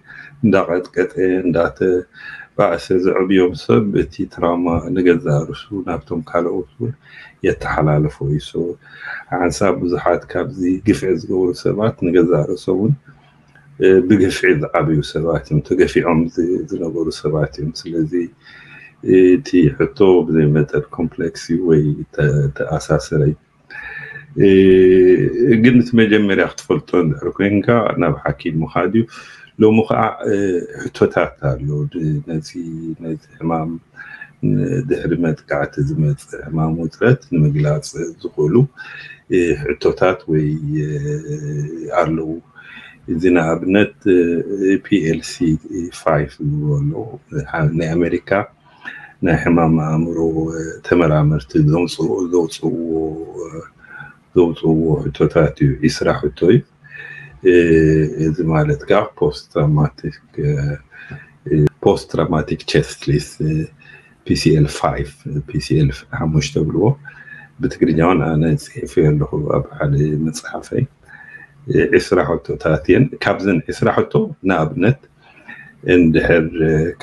እንዳቐጥቀጠ እንዳተባእሰ ዘዕብዮም ሰብ እቲ ትራውማ ንገዛእ ርእሱ ናብቶም ካልኦት እውን የተሓላልፎ እዩ። ሓንሳብ ብዙሓት ካብዚ ግፍዒ ዝገብሩ ሰባት ንገዛእ ርእሶም እውን ብግፍዒ ዝዓብዩ ሰባት እዮም፣ ተገፊዖም ዝነበሩ ሰባት እዮም። ስለዚ እቲ ሕቶ ብዘይ መጠን ኮምፕሌክስ እዩ ወይ ተኣሳሰረ እዩ። ግን እቲ መጀመርያ ክትፈልጦ እንድሕር ኮይንካ ናብ ሓኪም ምኻድ እዩ። ሎሚ ከዓ ሕቶታት ኣሎ ነዚ ነዚ ሕማም ድሕሪ መጥቃዕቲ ዝመፅእ ሕማም ውጥረት ንምግላፅ ዝኽእሉ ሕቶታት ወይ ኣለዉ። እዚ ንኣብነት ፒኤልሲ ፋይቭ ዝብሉ ኣለዉ። ናይ ኣሜሪካ ናይ ሕማም ኣእምሮ ተመራመርቲ ዘውፅእዎ ዘውፅእዎ ሕቶታት እዩ። ዒስራ ሕቶ እዩ። እዚ ማለት ከዓ ፖስት ትራውማቲክ ፖስት ትራውማቲክ ቸስት ሊስት ፒሲኤል ፋይቭ ፒሲኤል ሓሙሽተ ብልዎ ብትግርኛ እውን ኣነ ፅሒፈዮ ኣለኹ ኣብ ሓደ መፅሓፈይ። ዒስራ ሕቶታት እየን። ካብዘን ዒስራ ሕቶ ንኣብነት እንድሕር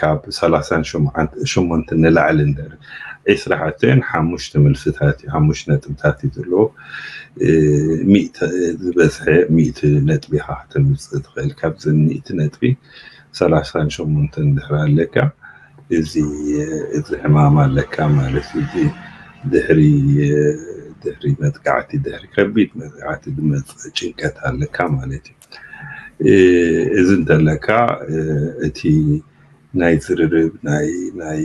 ካብ ሰላሳን ሸሞንተን ንላዕሊ እንድሕር ዒስራ ሕቶ እየን ሓሙሽተ መልስታት እዩ ሓሙሽተ ነጥብታት እዩ ዘለዎ። ዝበዝሐ ሚእቲ ነጥቢ ኢኻ ከተምፅእ ትኽእል። ካብዘን ሚእቲ ነጥቢ ሰላሳን ሸሞንተን እንድሕር ኣለካ እዚ እዚ ሕማም ኣለካ ማለት እዩ። ድሕሪ ድሕሪ መጥቃዕቲ ድሕሪ ከቢድ መጥቃዕቲ ዝመፅእ ጭንቀት ኣለካ ማለት እዩ። እዚ እንተለካ እቲ ናይ ዝርርብ ናይ ናይ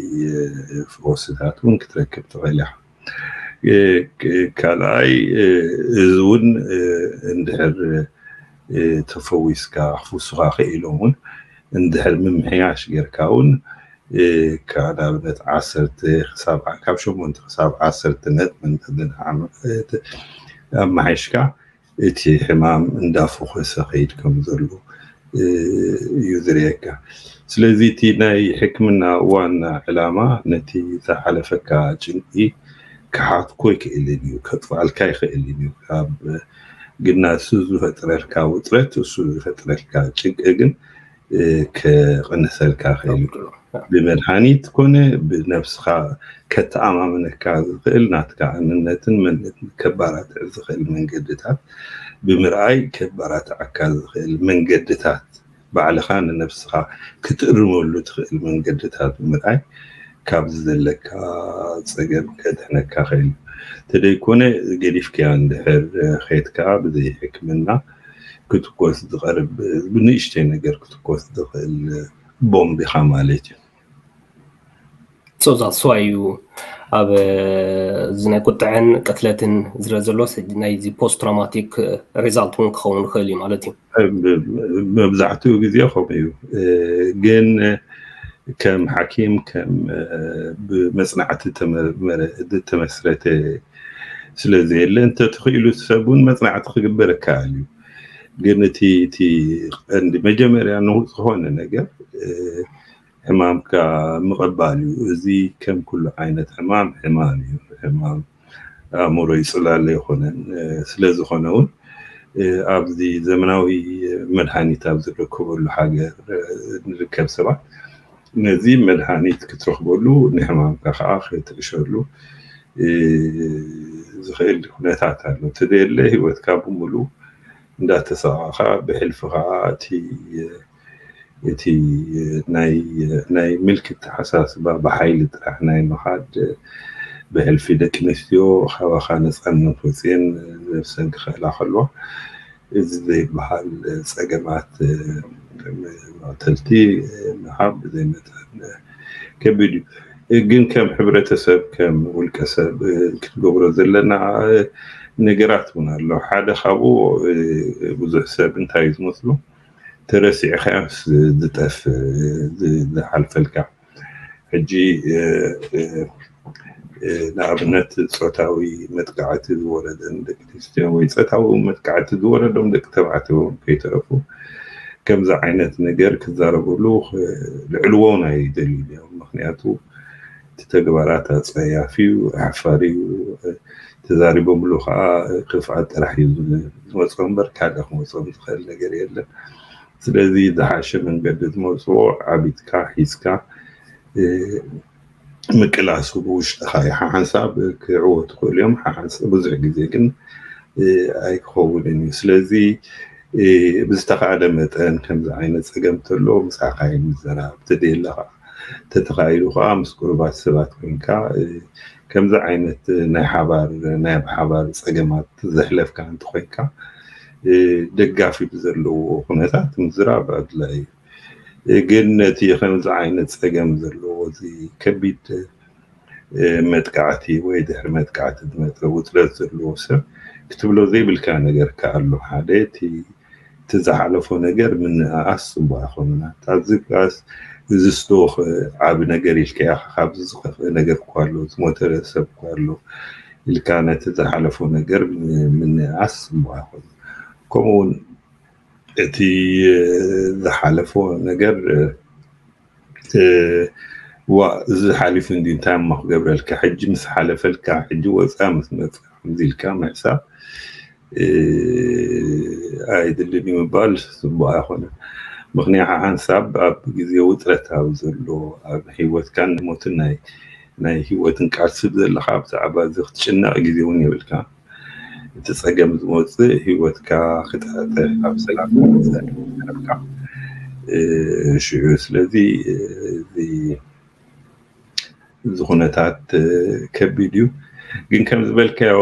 ፈወስታት እውን ክትረክብ ትኽእል ኢኻ። ካልኣይ እዚ እውን እንድሕር ተፈዊስካ ክፍውሱኻ ክኢሎም እውን እንድሕር ምምሕያሽ ጌርካ እውን ካብ ንኣብነት ዓሰርተ ክሳብ ካብ ሸሞንተ ክሳብ ዓሰርተ ነጥቢ ኣማሓይሽካ እቲ ሕማም እንዳፈኾሰ ከይድ ከም ዘሎ እዩ ዝርእየካ። ስለዚ እቲ ናይ ሕክምና ዋና ዕላማ ነቲ ዝሓለፈካ ጭንቂ ክሓትኮ ኣይክእልን እዩ፣ ከጥፍኣልካ ኣይክእልን እዩ። ካብ ግና እሱ ዝፈጥረልካ ውጥረት እሱ ዝፈጥረልካ ጭንቂ ግን ክቕንሰልካ ክእል ብመድሃኒት ኮነ ብነብስኻ ከተኣማምነካ ዝኽእል ናትካ እንነትን መንነትን ከባራትዕ ዝኽእል መንገድታት ብምርኣይ ከባራትዓካ ዝኽእል መንገድታት፣ ባዕልኻ ንነብስኻ ክትእርመሉ ትኽእል መንገድታት ብምርኣይ ካብዚ ዘለካ ጸገም ከድሕነካ ኽእል። ተደይኮነ ገዲፍክያ እንድሕር ኸይድካ ብዘይ ሕክምና ክትኮስ ዝቐርብ ብንእሽተይ ነገር ክትኮስ ዝኽእል ቦምብ ኢኻ ማለት እዩ። ሶዛ ስዋይ እዩ ኣብ እዚ ናይ ቁጥዐን ቅትለትን ዝረ ዘሎ ናይዚ ፖስት ትራውማቲክ ሪዛልት እውን ክኸውን ይኽእል እዩ ማለት እዩ። መብዛሕትኡ ግዜ ከምኡ እዩ። ግን ከም ሓኪም ከም ብመፅናዕቲ ዝተመስረተ ስለ ዘየለ እንተተኽኢሉ ሰብ እውን መፅናዕቲ ክግበር ይከኣል እዩ። ግን እቲ እቲ ቀንዲ መጀመርያ ንዝኾነ ነገር ሕማምካ ምቕባል እዩ። እዚ ከም ኩሉ ዓይነት ሕማም ሕማም እዩ። ሕማም ኣእምሮ ይፅላለ ኣይኮነን። ስለ ዝኾነ እውን ኣብዚ ዘመናዊ መድሃኒት ኣብ ዝርከበሉ ሃገር ንርከብ ሰባት ነዚ መድሃኒት ክትረኽበሉ ንሕማምካ ከዓ ክትዕሸሉ ዝኽእል ኩነታት ኣሎ። ተደየለ ህይወትካ ብምሉ እንዳተሰቃኻ ብሕልፊ ከዓ እቲ እቲ ናይ ናይ ምልኪ ተሓሳስባ ብሓይሊ ጥራሕ ናይ ምኻድ ብሕልፊ ደቂ ኣንስትዮ ካባኻ ነፃነት ወፅየን ነብሰን ክኽእላ ከለዋ እዚ ዘይበሃል ፀገማት መቕተልቲ ምሃብ ብዘይ መጠን ከቢድ እዩ። ግን ከም ሕብረተሰብ ከም ውልቀ ሰብ ክትገብሮ ዘለና ነገራት እውን ኣሎ። ሓደ ካብኡ ብዙሕ ሰብ እንታይ እዩ ዝመስሉ ተረሲዕካዮስ ዝጠፍ ዝሓልፈልካ ሕጂ ንኣብነት ፆታዊ መጥቃዕቲ ዝወረደን ደቂ ኣንስትዮ ወይ ፆታዊ መጥቃዕቲ ዝወረዶም ደቂ ተባዕትዮ ከይተረፉ ከምዚ ዓይነት ነገር ክዛረብሉ ልዕልዎ ናይ ደልዩ እዮም። ምክንያቱ እቲ ተግባራት ኣፀያፊ እዩ፣ ኣሕፋሪ እዩ። ተዛሪቦምሉ ከዓ ክፍኣት ጥራሕ እዩ ዝመፅኦ እምበር ካልእ ክመፅኦም ዝኽእል ነገር የለን። ስለዚ ዝሓሸ መንገዲ ዝመፅዎ ዓቢጥካ ሒዝካ ምቅላሱ ብውሽጥኻ እዩ። ሓሓንሳብ ክዕወቱ ክእሉ እዮም። ሓሓንሳብ ብዙሕ ግዜ ግን ኣይክኸውንን እዩ። ስለዚ ብዝተኻእለ መጠን ከምዚ ዓይነት ፀገም ተሎ ምሳኻ ምዘራብ ተደየለ ከዓ ተተኻኢሉ ከዓ ምስ ቁሩባት ሰባት ኮይንካ ከምዚ ዓይነት ናይ ሓባር ናይ ብሓባር ፀገማት ዘሕለፍካ እንተኮይንካ ደጋፊ ብዘለዎ ኩነታት ምዝራብ ኣድላይ እዩ። ግን ነቲ ከምዚ ዓይነት ፀገም ዘለዎ እዚ ከቢድ መጥቃዕቲ ወይ ድሕሪ መጥቃዕቲ ዝመፀ ውጥረት ዘለዎ ሰብ ክትብሎ ዘይብልካ ነገር ከኣሎ ሓደ እቲ ዝሓለፎ ነገር ምንእኣስ ፅቡቅ ኣይኮነን። ኣብዚ ቃስ እዚ ስቶክ ዓቢ ነገር ኢልካያ ካብዚ ዝኸፍአ ነገር እኳ ኣሎ ዝሞተ ሰብ እኳ ኣሎ ኢልካ ነቲ ዝሓለፎ ነገር ምንእኣስ ፅቡቅ ኣይኮነን። ከምኡውን እቲ ዝሓለፎ ነገር ዋ እዚ ሓሊፉ እንዲ እንታይ እሞ ክገብረልካ ሕጂ ምስ ሓለፈልካ ሕጂ ወፃ ምስ መፃ ከምዚ ኢልካ ምሕሳብ ኣይድልን እዩ ምባል ፅቡቅ ኣይኮነን። ምክንያቱ ሓንሳብ ኣብ ግዜ ውጥረት ኣብ ዘሎ ኣብ ህይወትካን ሞትን ናይ ናይ ህይወትን ቃልሲ ዘለካ ብዛዕባ እዚ ክትጭነቅ ግዜ እውን የብልካ። እቲ ፀገም ዝመፅእ ህይወትካ ክጠጠ ኣብ ሰላም ረብካ ሽዑ ስለዚ እዚ ኩነታት ከቢድ እዩ። ግን ከም ዝበልካዮ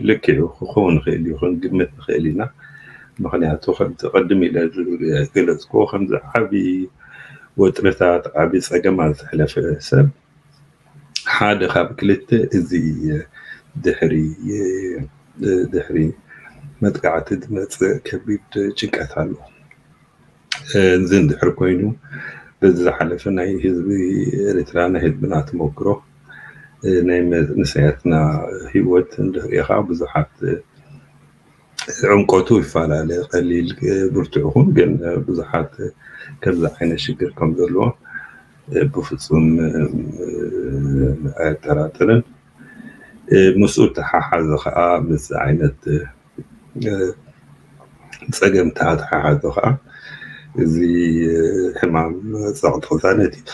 ልክዕ እዩ ክኸውን ይኽእል እዩ ክንግምት ንኽእል ኢና። ምክንያቱ ከምቲ ቅድም ኢለ ዝገለፅኩዎ ከምዚ ዓብዪ ወጥርታት ዓብዪ ፀገማት ዘሕለፈ ሰብ ሓደ ካብ ክልተ እዚ ድሕሪ ድሕሪ መጥቃዕቲ ዝመፅእ ከቢድ ጭንቀት ኣሎ። እዚ እንድሕር ኮይኑ በዚ ዝሓለፈ ናይ ህዝቢ ኤርትራ ናይ ህዝብና ተመክሮ ናይ መንእሰያትና ህይወት እንድሕሪኻ ብዙሓት ዕምቆቱ ይፈላለ ቀሊል ብርቱዕ ይኹን ግን ብዙሓት ከምዚ ዓይነት ሽግር ከም ዘለዎ ብፍፁም ኣየጠራጥርን። ምስኡ ተሓሓዘ ከዓ ምስ ዓይነት ፀገምታ ተሓሓዘ ከዓ እዚ ሕማም ፀቕጢ ቅሳነት እዩ።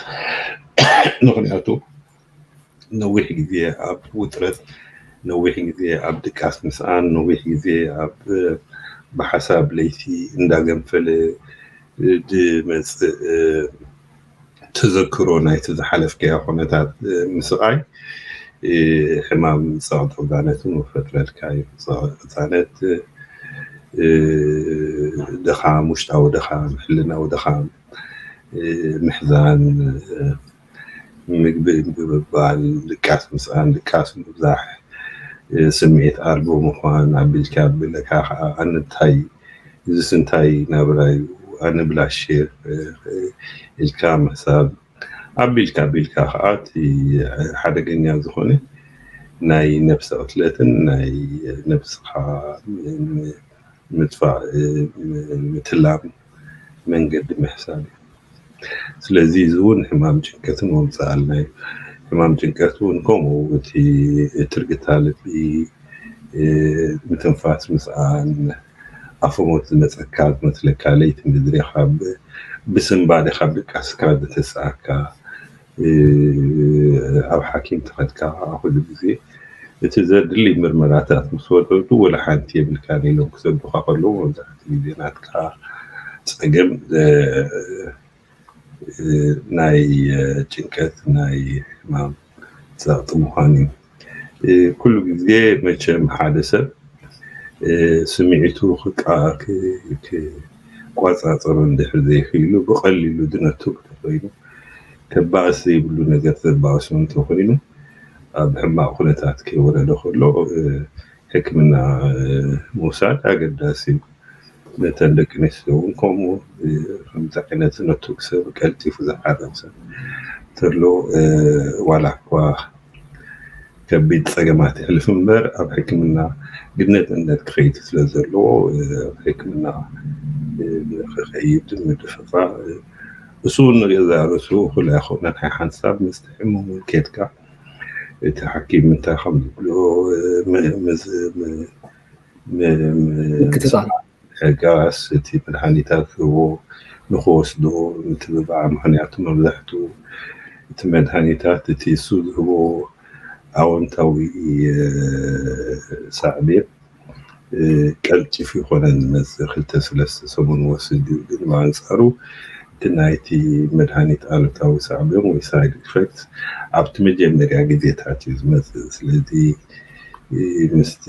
ምክንያቱ ነዊሕ ግዜ ኣብ ውጥረት ነዊሕ ግዜ ኣብ ድቃስ ምስኣን፣ ነዊሕ ግዜ ኣብ ብሓሳብ ለይቲ እንዳገንፈለ ድመፅእ ተዘክሮ ናይቲ ዝሓለፍካዮ ኩነታት ምስቓይ ሕማም ፀቕጢ ቅዛነት እውን ይፈጥረልካ እዩ። ፀቕጢ ቅዛነት ድኻም፣ ውሽጣዊ ድኻም፣ ሕልናዊ ድኻም፣ ምሕዛን፣ ምግቢ ምግቢ ምባል፣ ድቃስ ምስኣን፣ ድቃስ ምብዛሕ፣ ስምዒት ኣልቦ ምዃን፣ ኣቢልካ ኣቢለካ ከዓ ኣነ እንታይ፣ እዚስ እንታይ ናብራ እዩ፣ ኣነ ብላሽ ኢልካ ምሕሳብ፣ ኣቢልካ ኣቢልካ ከዓ እቲ ሓደገኛ ዝኾነ ናይ ነብሰ ቅትለትን ናይ ነብስኻ ምጥፋእ ምትላም መንገዲ ምሕሳብ እዩ። ስለዚ እዚ እውን ሕማም ጭንቀትን ወምፅኣልና እዩ። ሕማም ጭንቀት እውን ከምኡ እቲ ትርግታ ልቢ፣ ምትንፋስ ምስኣን፣ ኣፈሞት ዝመፀካ ዝመስለካ፣ ለይቲ ምድሪ ካብ ብስንባዴ ካብ ድቃስካ ዝተስኣካ፣ ኣብ ሓኪም ተኸድካ ኩሉ ግዜ እቲ ዘድሊ ምርመራታት ምስ ወረዱ ወላ ሓንቲ የብልካን ኢሎም ክሰዱኻ ከለዉ መብዛሕትኡ ግዜ ናትካ ፀገም ናይ ጭንቀት ናይ ሕማም ፀቕጢ ምዃኑ እዩ። ኩሉ ግዜ መቸም ሓደ ሰብ ስምዒቱ ክቋፃፀሮ እንድሕር ዘይክኢሉ ብቐሊሉ ዝነቱ እንተኮይኑ ከባእስ ዘይብሉ ነገር ዘባእሶ እንተኮይኑ ኣብ ሕማቕ ኩነታት ከይወረደ ከሎ ሕክምና ምውሳድ ኣገዳሲ እዩ። ነተን ደቂ ኣንስትዮ እውን ከምኡ ከምዚ ዓይነት ነቱግ ሰብ ቀልጢፉ ዝሓረም ሰብ እንተሎ ዋላ እኳ ከቢድ ፀገማት ይሕልፍ እምበር ኣብ ሕክምና ግድነት እምነት ክኸይድ ስለ ዘለዎ ኣብ ሕክምና ክኸይድ ምድፍፋ እሱ እውን ንገዛ ርእሱ ኩላ ይኮነ ናይ ሓንሳብ ምስ ሕሙም እውን ኬድካ እቲ ሓኪም እንታይ ከም ዝብሎ ሕጋስ እቲ መድሃኒታት ዝህቦ ንክወስዶ ምትብባዕ ምክንያቱ መብዛሕትኡ እቲ መድሃኒታት እቲ እሱ ዝህቦ ኣወንታዊ ሳዕቤን ቀልጢፉ ይኮነን ዝመፅእ ክልተ ሰለስተ ሰሙን ወስድ እዩ ግን ብኣንፃሩ እቲ ናይቲ መድሃኒት ኣሉታዊ ሳዕቤን ወይ ሳይድ ኢፌክት ኣብቲ መጀመርያ ግዜታት እዩ ዝመፅእ ስለዚ ምስቲ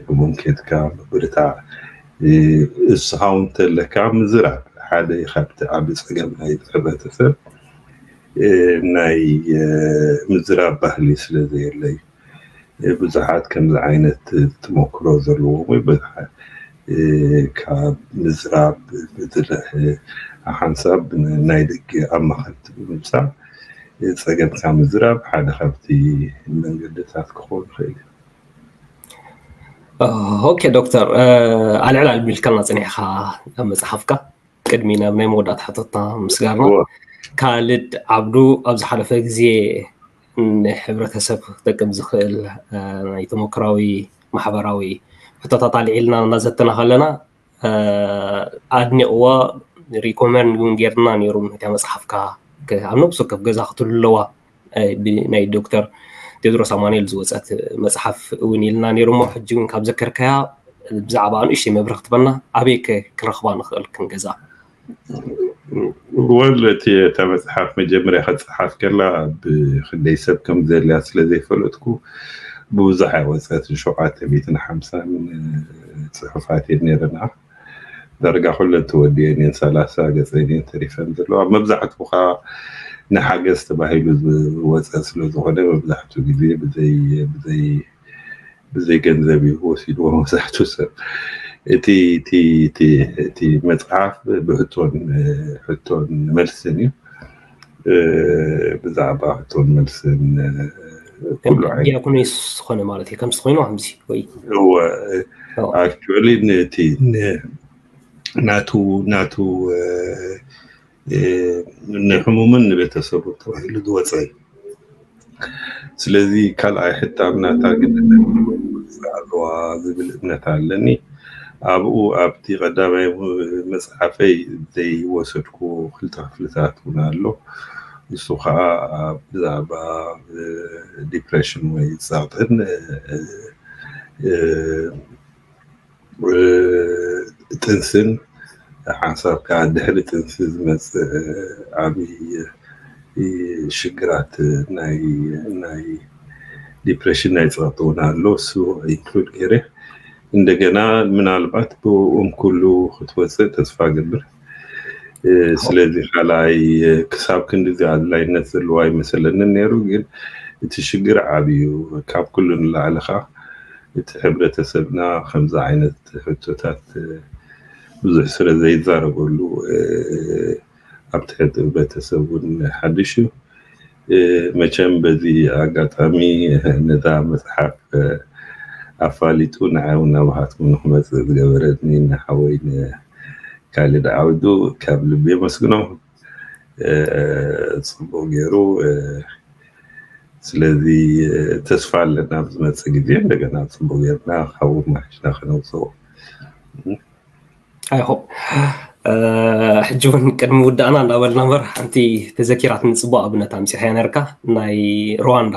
ሕሙም ኬድካ ምብርታዕ እስኻ እውን ተለካ ምዝራብ ሓደ ካብቲ ዓቢ ፀገም ናይ ሕብረተሰብ ናይ ምዝራብ ባህሊ ስለ ዘየለ እዩ ብዙሓት ከምዚ ዓይነት ተመክሮ ዘለዎም ወይ ካብ ምዝራብ ብዝርሕ ሓንሳብ ናይ ደገ ኣማኸርቲ ብምምፃእ ፀገምካ ምዝራብ ሓደ ካብቲ መንገድታት ክኸውን ይኽእል እዩ። ኦኬ ዶክተር፣ ኣልዕል ኣልቢልካና ፅኒሕካ ኣብ መፅሓፍካ ቅድሚ ናብ ናይ መወዳእታ ሕቶትና ምስጋርና ካልድ ዓብዱ ኣብ ዝሓለፈ ግዜ ንሕብረተሰብ ክጠቅም ዝኽእል ናይ ተመክራዊ ማሕበራዊ ሕቶታት ኣልዒልና እናዘተና ከለና ኣድኒቕዎ ሪኮመንድ እውን ጌርና ነይሩ ነታ መፅሓፍካ ኣብ ነብሲ ወከፍ ገዛ ክትህሉ ኣለዋ ናይ ዶክተር ቴድሮስ ኣማኑኤል ዝወፀት መፅሓፍ እውን ኢልና ነይሩ እሞ ሕጂ እውን ካብ ዘከርካያ ብዛዕባ ንእሽተይ መብርህ ክትበና ኣበይ ክንረኽባ ንኽእል ክንገዛ ወል እቲ እታ መፅሓፍ መጀመርያ ከፀሓፍ ከላ ብክንደይ ሰብ ከም ዘድልያ ስለ ዘይፈለጥኩ ብብዙሕ ኣይወፀትን ሸውዓተ ሚእትን ሓምሳን ፅሑፋት እየን ነይረና ዳርጋ ኩለን ተወዲአን እየን ሰላሳ ገፀን እየን ተሪፈን ዘለዋ መብዛሕትኡ ከዓ ንሓገዝ ተባሂሉ ዝወፀ ስለ ዝኾነ መብዛሕትኡ ግዜ ብዘይ ብዘይ ብዘይ ገንዘብ እዩ ወሲድዎ መብዛሕትኡ ሰብ እቲ እቲ እቲ እቲ መፅሓፍ ብሕቶን ሕቶን መልስን እዩ ብዛዕባ ሕቶን መልስን ኩሉ ዓይነት ዲያኮኒስ ዝኾነ ማለት እዩ ከምዚ ኮይኑ ከምዚ ወይ እወ actually ነቲ ናቱ ናቱ ንሕሙምን ንቤተሰቡ ተባሂሉ ዝወፀ እዩ። ስለዚ ካልኣይ ሕታም ናታ ግድነት ኣለዋ ዝብል እምነት ኣለኒ። ኣብኡ ኣብቲ ቀዳማይ መፅሓፈይ ዘይወሰድኩዎ ክልተ ክፍልታት እውን ኣሎ። እሱ ከዓ ብዛዕባ ዲፕሬሽን ወይ ጸቕጥን ጥንስን ሓንሳብ ከዓ ድሕሪ ጥንሲ ዝመፅእ ዓብዪ ሽግራት ናይ ናይ ዲፕሬሽን ናይ ፀቕጢ እውን ኣሎ። እሱ ኢንክሉድ ገይረ እንደገና ምናልባት ብእም ኩሉ ክትወፅእ ተስፋ ገብር። ስለዚ ካልኣይ ክሳብ ክንዲ እዚ ኣድላይነት ዘለዎ ኣይመሰለንን ነይሩ። ግን እቲ ሽግር ዓብዩ ካብ ኩሉ ንላዕሊ ከዓ እቲ ሕብረተሰብና ከምዚ ዓይነት ሕቶታት ብዙሕ ስለ ዘይዛረበሉ ኣብቲ ሕብረተሰብ እውን ሓድሽ እዩ። መቸም በዚ ኣጋጣሚ ነዛ መፅሓፍ ኣፋሊጡ ንዓይ እውን ናባኻትኩም ንክመፅእ ዝገበረኒ ንሓወይ ንካሊድ ዓብዱ ካብ ልቢ የመስግኖ። ፅቡቅ ገይሩ። ስለዚ ተስፋ ኣለና ኣብ ዝመፅእ ግዜ እንደገና ፅቡቅ ጌርና ካብኡ ማሕሽና ከነውፅኦ። ኣይሆ ሕጂ እውን ቅድሚ ውዳእና እንዳበልና እምበር ሓንቲ ተዘኪራትኒ ፅቡቅ ኣብነት ኣምፂኻያ ነርካ ናይ ሩዋንዳ።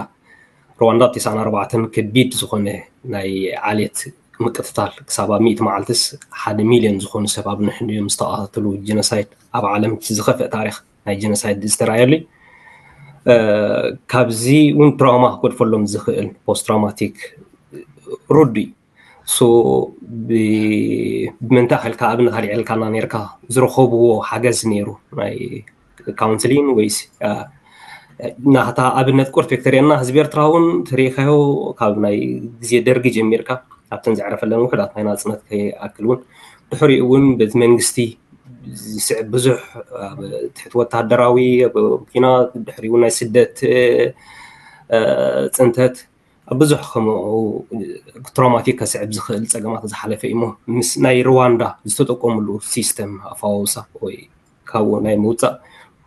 ሩዋንዳ ኣብ ተስዓን ኣርባዕተን ከቢድ ዝኾነ ናይ ዓሌት ምቅትታል ክሳብ ኣብ ሚእቲ መዓልትስ ሓደ ሚልዮን ዝኾኑ ሰብ ኣብ ንሕንድዮም ዝተቐተሉ ጀኖሳይድ ኣብ ዓለም ዝኸፍእ ታሪክ ናይ ጀኖሳይድ ዝተረኣየሉ እዩ። ካብዚ እውን ትራውማ ክገድፈሎም ዝኽእል ፖስት ትራውማቲክ ሩዱ እዩ። ሶ ብምንታይ ከልካ ኣብነት ኣልዒልካና ነርካ ዝረኸብዎ ሓገዝ ነይሩ ናይ ካውንስሊን ወይስ ናታ ኣብነት ቁርት ቪክቶሪያና ህዝቢ ኤርትራ እውን ተሪኢኻዮ ካብ ናይ ግዜ ደርጊ ጀሚርካ ኣብተን ዘዕረፈለን ውሕዳት ናይ ናጽነት ከይኣክል እውን ድሕሪኡ እውን በቲ መንግስቲ ዝስዕብ ብዙሕ ትሕቲ ወታደራዊ ኪናት ድሕሪኡ ናይ ስደት ፅንተት ኣብ ብዙሕ ከምኡ ትራውማቲክ ከስዕብ ዝኽእል ፀገማት ዝሓለፈ እዩ። ምስ ናይ ሩዋንዳ ዝተጠቀምሉ ሲስተም ኣፋወሳ ወይ ካብኡ ናይ ምውፃእ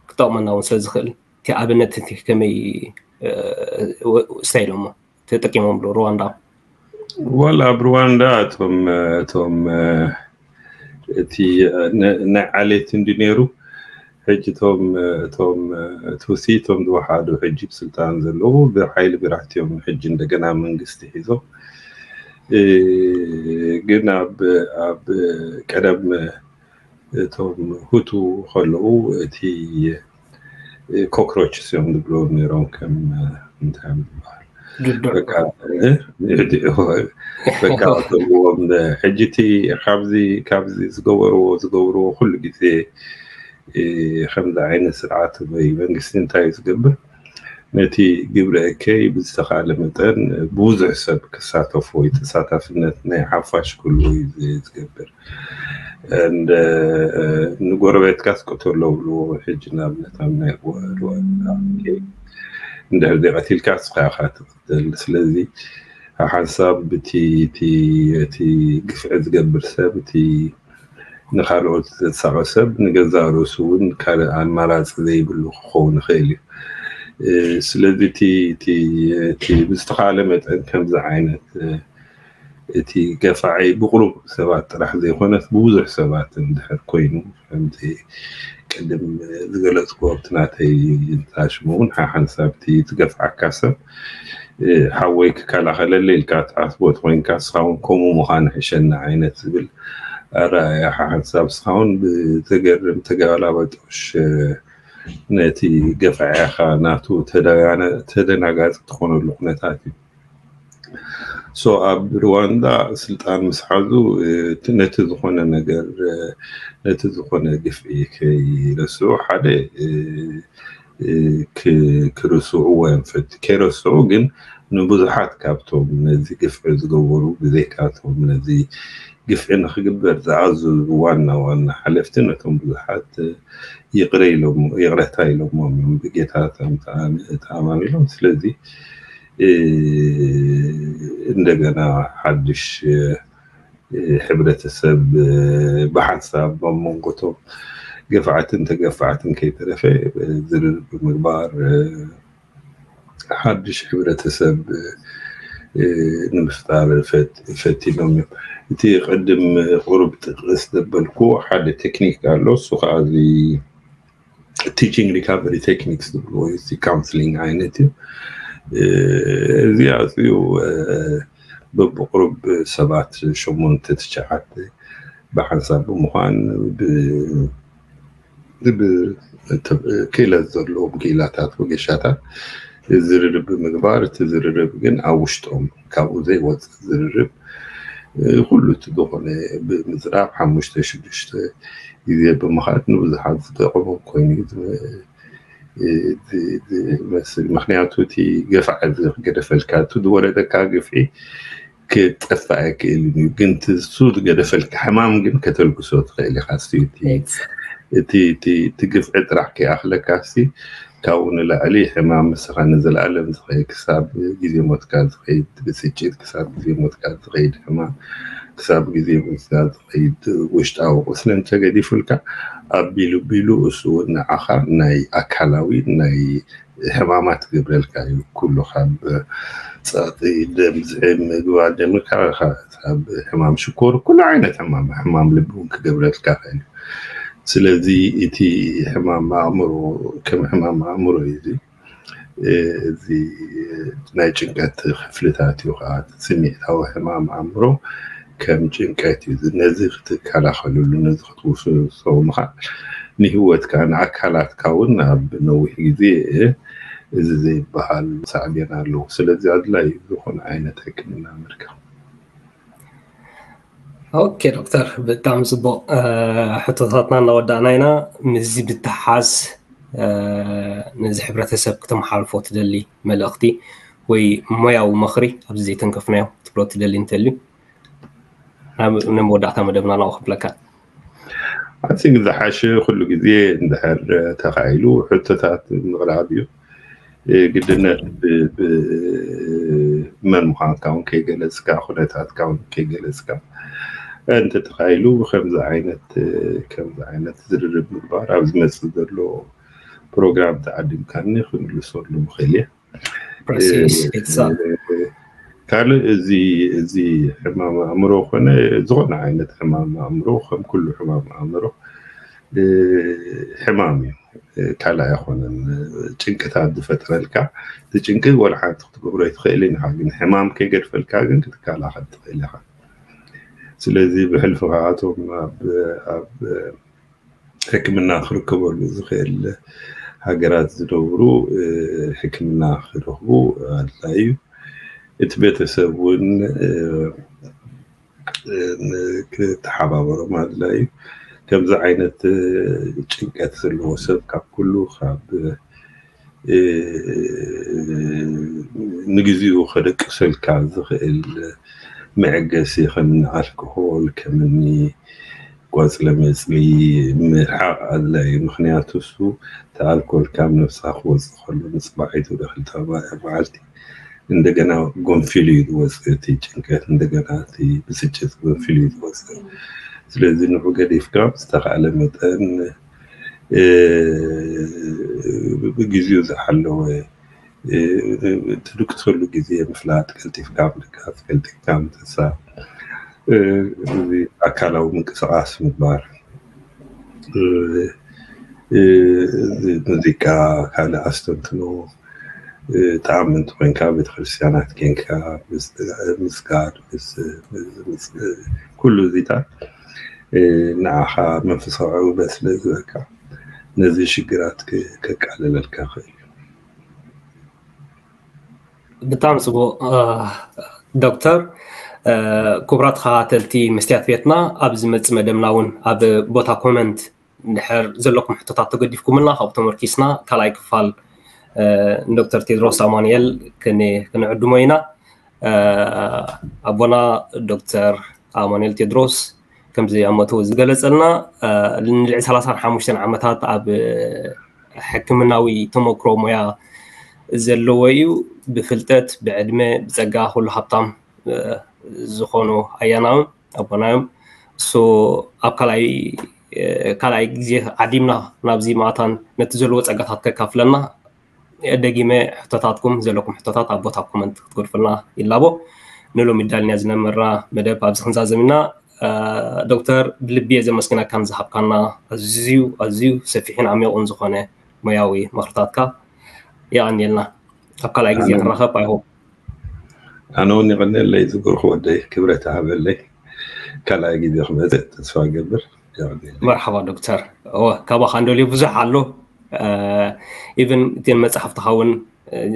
ክጠቕመና እውን ስለ ዝኽእል እቲ ኣብነት እቲ ከመይ ስታይሎሞ ተጠቂሞምሉ ሩዋንዳ? ወላ ኣብ ሩዋንዳ እቶም እቶም እቲ ናይ ዓሌት እንዲ ነይሩ ሕጂ እቶም እቶም ቱሲ እቶም ዝወሓዱ ሕጂ ብስልጣን ዘለዉ ብሓይሊ ብራህቲ እዮም ሕጂ እንደገና መንግስቲ ሒዞም። ግን ኣብ ኣብ ቀደም እቶም ሁቱ ከለዉ እቲ ኮክሮችስ እዮም ዝብሎ ነይሮም ከም እንታይ ዝበሃል በቃ እተልዎም ሕጂ እቲ ካብዚ ካብዚ ዝገበርዎ ዝገብርዎ ኩሉ ግዜ ከምዚ ዓይነት ስርዓት ወይ መንግስቲ እንታይ እዩ ዝገብር ነቲ ግብረ እከይ ብዝተኻለ መጠን ብዙሕ ሰብ ክሳተፎ ወይ ተሳታፍነት ናይ ሓፋሽ ክህልዎ እዩ ዝገብር። ንጎረቤትካ ስቅተሎ ብልዎ ሕጂ ንኣብነት ኣብ ናይ እንድሕር ዘይቀቲልካ ስኻ ኢኻ ትቅተል። ስለዚ ሓንሳብ እቲ ግፍዒ ዝገብር ሰብ እቲ ንካልኦት ዘሳቐ ሰብ ንገዛእ ርእሱ እውን ካልእ ኣማራፂ ዘይብሉ ክኸውን ይኽእል እዩ። ስለዚ እቲ ብዝተኻለ መጠን ከምዚ ዓይነት እቲ ገፋዒ ብቁሩብ ሰባት ጥራሕ ዘይኮነስ ብብዙሕ ሰባት እንድሕር ኮይኑ ከምቲ ቅድም ዝገለፅኩ ኣብቲ ናተይ ታሽሙ እውን ሓሓንሳብ እቲ ዝገፍዓካ ሰብ ሓወይ ክከላኸለለይ ኢልካ ትዓስቦ ተኮይንካ ንስኻ እውን ከምኡ ምዃን ሕሸና ዓይነት ዝብል ኣረኣእያ ሓሓንሳብ ንስኻ እውን ብዘገርም ተገላባጦሽ ነቲ ገፋዒኻ ናቱ ተደናጋፂ ትኾነሉ ኩነታት እዩ። ሶ ኣብ ሩዋንዳ ስልጣን ምስ ሓዙ ነቲ ዝኾነ ነገር ነቲ ዝኾነ ግፍዒ ከይረስዑ ሓደ ክርስዕዎ እዮም ፈት ከይረስዑ ግን ንብዙሓት ካብቶም ነዚ ግፍዒ ዝገበሩ ብዘይካቶም ነዚ ግፍዒ ንክግበር ዝኣዘዙ ዋና ዋና ሓለፍቲ ነቶም ብዙሓት ይቕረ ኢሎም ይቕረታ ኢሎሞም እዮም ብጌታቶም ተኣማሚኖም። ስለዚ እንደገና ሓድሽ ሕብረተሰብ ብሓንሳብ ኣብ መንጎቶም ገፋዕትን ተገፋዕትን ከይተረፈ ዝርርብ ብምግባር ሓድሽ ሕብረተሰብ ንምፍጣር ፈቲኖም እዮም። እቲ ቅድም ቁሩብ ጥቅስ ዘበልኩ ሓደ ቴክኒክ ኣሎ። እሱ ከዓ እዚ teaching recovery techniques ዝብልዎ እዩ። እዚ counselling ዓይነት እዩ። እዚ ኣዝዩ በብቁሩብ ሰባት ሸሞንተ ትሽዓተ ብሓንሳብ ብምዃን ክእለት ዘለዎም ክኢላታት ወገሻታት ዝርርብ ብምግባር፣ እቲ ዝርርብ ግን ኣብ ውሽጦም ካብኡ ዘይወፅእ ዝርርብ፣ ኩሉ እቲ ዝኾነ ብምዝራብ ሓሙሽተ ሽዱሽተ ግዜ ብምኻድ ንብዙሓት ዝጠቕሞም ኮይኑ ዝመስል። ምክንያቱ እቲ ገፋዕ ዝገደፈልካ፣ እቲ ዝወረደካ ግፍዒ ክጠፍእ ኣይክእልን እዩ። ግን እሱ ዝገደፈልካ ሕማም ግን ከተልግሶ ትኽእል ኢኻ። እቲ ግፍዒ ጥራሕ ከይኣኽለካ ሲ ካብኡ ንላዕሊ ሕማም ምስኻ ንዘለኣለም ዝኸይድ ክሳብ ግዜ ሞትካ ዝኸይድ ብስጭት፣ ክሳብ ግዜ ሞትካ ዝኸይድ ሕማም፣ ክሳብ ግዜ ሞትካ ዝኸይድ ውሽጣዊ ቁስሊ እንተገዲፉልካ ኣቢሉ ቢሉ እሱ እውን ንዓኻ ናይ ኣካላዊ ናይ ሕማማት ክገብረልካ እዩ። ኩሉ ካብ ጸቕጢ ደም፣ ዝዒ፣ ምግባር ደም፣ ካብ ሕማም ሽኮር፣ ኩሉ ዓይነት ሕማም፣ ሕማም ልቢ እውን ክገብረልካ ይኽእል እዩ። ስለዚ እቲ ሕማም ኣእምሮ ከም ሕማም ኣእምሮ እዩ። እዚ ናይ ጭንቀት ክፍልታት እዩ ከዓ ስምዒታዊ ሕማም ኣእምሮ ከም ጭንቀት እዩ። ነዚ ክትከላኸልሉ፣ ነዚ ክትውስሶ ምኻድ ንህይወትካ ንኣካላትካ እውን ኣብ ነዊሕ ግዜ እዚ ዘይበሃል ሳዕቤን ኣለዎ። ስለዚ ኣድላይ ዝኾነ ዓይነት ሕክምና ምርካብ። ኦኬ ዶክተር፣ ብጣዕሚ ፅቡቕ። ሕቶታትና እናወዳእና ኢና። ምስዚ ብተሓዝ ነዚ ሕብረተሰብ ክተመሓልፎ ትደሊ መልእኽቲ ወይ ሞያዊ ምኽሪ ኣብዚ ዘይተንከፍናዮ ክትብሎ ትደሊ እንተልዩ ናብ መወዳእታ መደብና ናው ክብለካ። ኣፂግ ዝሓሸ ኩሉ ግዜ እንድሕር ተኻኢሉ ሕቶታት ምቕራብ እዩ። ግድነት መን ምዃንካ እውን ከይገለፅካ፣ ኩነታትካ እውን ከይገለፅካ እንተተኻኢሉ ብከምዚ ዓይነት ከምዚ ዓይነት ዝርርብ ምግባር ኣብ ዝመፅእ ዘሎ ፕሮግራም ተዓዲምካኒ ክንልሰሉ ምኽእል እየ። ካልእ እዚ እዚ ሕማም ኣእምሮ ኮነ ዝኾነ ዓይነት ሕማም ኣእምሮ ከም ኩሉ ሕማም ኣእምሮ ሕማም እዩ። ካልእ ኣይኮነን። ጭንቅታት ዝፈጥረልካ እቲ ጭንቂ ወላ ሓንቲ ክትገብሮ ኣይትኽእል ኢኻ፣ ግን ሕማም ከይገድፈልካ ግን ክትከላኸል ትኽእል ኢኻ። ስለዚ ብሕልፊ ካብኣቶም ኣብ ሕክምና ክርከበሉ ዝኽእል ሃገራት ዝነብሩ ሕክምና ክረኽቡ ኣድላይ እዩ። እቲ ቤተሰብ እውን ክተሓባበሮም ኣድላይ እዩ። ከምዚ ዓይነት ጭንቀት ዘለዎ ሰብ ካብ ኩሉ ካብ ንግዚኡ ከደቅሰልካ ዝኽእል መዐገሲ ከምኒ ኣልኮሆል፣ ከምኒ ቆፅለ መፅሊ ምርሓቕ ኣድላይ እዩ። ምክንያቱ እሱ እቲ ኣልኮል ካብ ነብስኻ ክወፅእ ከሎ ንፅባሒቱ ዶ ክልተ መዓልቲ እንደገና ጎንፊሉ እዩ ዝወፅእ። እቲ ጭንቀት እንደገና እቲ ብስጭት ጎንፊሉ እዩ ዝወፅእ። ስለዚ ንዑ ገዲፍካ ብዝተኻእለ መጠን ብግዚኡ ዝሓለወ ትድቅሰሉ ግዜ ምፍላጥ፣ ቀልጢፍካ ምድቃስ፣ ቀልጢፍካ ምትሳእ፣ ኣካላዊ ምንቅስቃስ ምግባር፣ ሙዚቃ፣ ካልእ ኣስተንትኖ፣ ተኣምን እንተኮይንካ ቤተክርስትያናት ኬንካ ምስጋድ፣ ኩሉ እዚታት ንዓኻ መንፈሳዊ ዕውበት ስለ ዝህበካ ነዚ ሽግራት ከቃልለልካ ይኽእል እዩ። ብጣዕሚ ፅቡቅ ዶክተር። ክቡራት ተኸታተልቲ መስትያት ቤትና፣ ኣብ ዝመፅእ መደብና እውን ኣብ ቦታ ኮመንት እንድሕር ዘለኩም ሕቶታት ተገዲፍኩምልና ካብኡ ተመርኪስና ካልኣይ ክፋል ንዶክተር ቴድሮስ ኣማኑኤል ክንዕድሞ ኢና። ኣቦና ዶክተር ኣማኑኤል ቴድሮስ ከምዚ ኣብ መእተዊ ዝገለፀልና ንልዕሊ ሰላሳን ሓሙሽተን ዓመታት ኣብ ሕክምናዊ ተመክሮ ሞያ ዘለዎ እዩ። ብፍልጠት፣ ብዕድመ፣ ብፀጋ ኩሉ ሃብታም ዝኾኑ ኣያናዊ ኣቦና እዮም። እሱ ኣብ ካልኣይ ካልኣይ ግዜ ዓዲምና ናብዚ ማእታን ነቲ ዘለዎ ፀጋታት ከካፍለና ደጊመ ሕቶታትኩም ዘለኩም ሕቶታት ኣብ ቦታ ኮመንት ክትገድፉልና ይላቦ። ንሎሚ ዳልኛ ዝነበርና መደብ ኣብዚ ክንዛዘም ኢና። ዶክተር፣ ብልቢ እየ ዘመስግነካ ንዝሃብካና ኣዝዩ ኣዝዩ ሰፊሕን ዓሚቑን ዝኾነ ሞያዊ ምኽርታትካ። የቐንየልና። ኣብ ካልኣይ ግዜ ክንራኸብ ኣይሆ። ኣነ እውን ይቐንየለይ ዝግርኩ ወደይ፣ ክብረት ይሃበለይ። ካልኣይ ግዜ ክመፅእ ተስፋ ገብር። ይቐንየለይ። መርሓባ ዶክተር። እወ፣ ካባኻ እንደልዮ ብዙሕ ኣሎ። ኢቭን እተን መፅሓፍትኻ እውን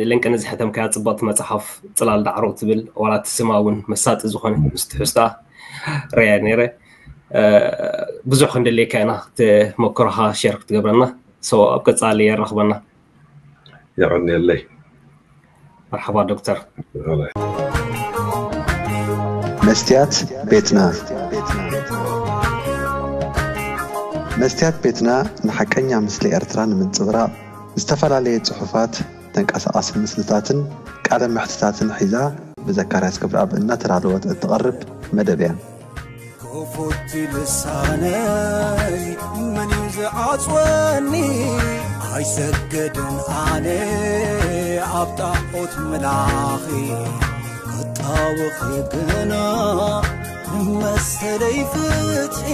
ለንቅነ ዝሕተምካያ ፅብቕቲ መፅሓፍ ፅላል ዳዕሮ ትብል፣ ዋላ እቲ ስማ እውን መሳጢ ዝኾነ ምስ ትሕዝታ ርያ ነይረ። ብዙሕ ክንደልየካ ኢና ተመክሮኻ ሸር ክትገብረና። ኣብ ቀፃሊ የራኽበና። የቐንየለይ። መርሓባ ዶክተር። መስትያት ቤትና። መስትያት ቤትና ንሓቀኛ ምስሊ ኤርትራ ንምንጽብራቕ ዝተፈላለየ ጽሑፋት፣ ተንቀሳቓሲ ምስልታትን ቃለ መሕትታትን ሒዛ ብዘካርያስ ገብረኣብ እናተዳለወት እትቐርብ መደብ እያ። ክፉት ልሳነይ መን እዩ ዝዓጽወኒ? ኣይሰግድን ኣነ ኣብ ጣዖት ምላኺ፣ ክጣወኺ ግና መሰለይ ፍትሒ።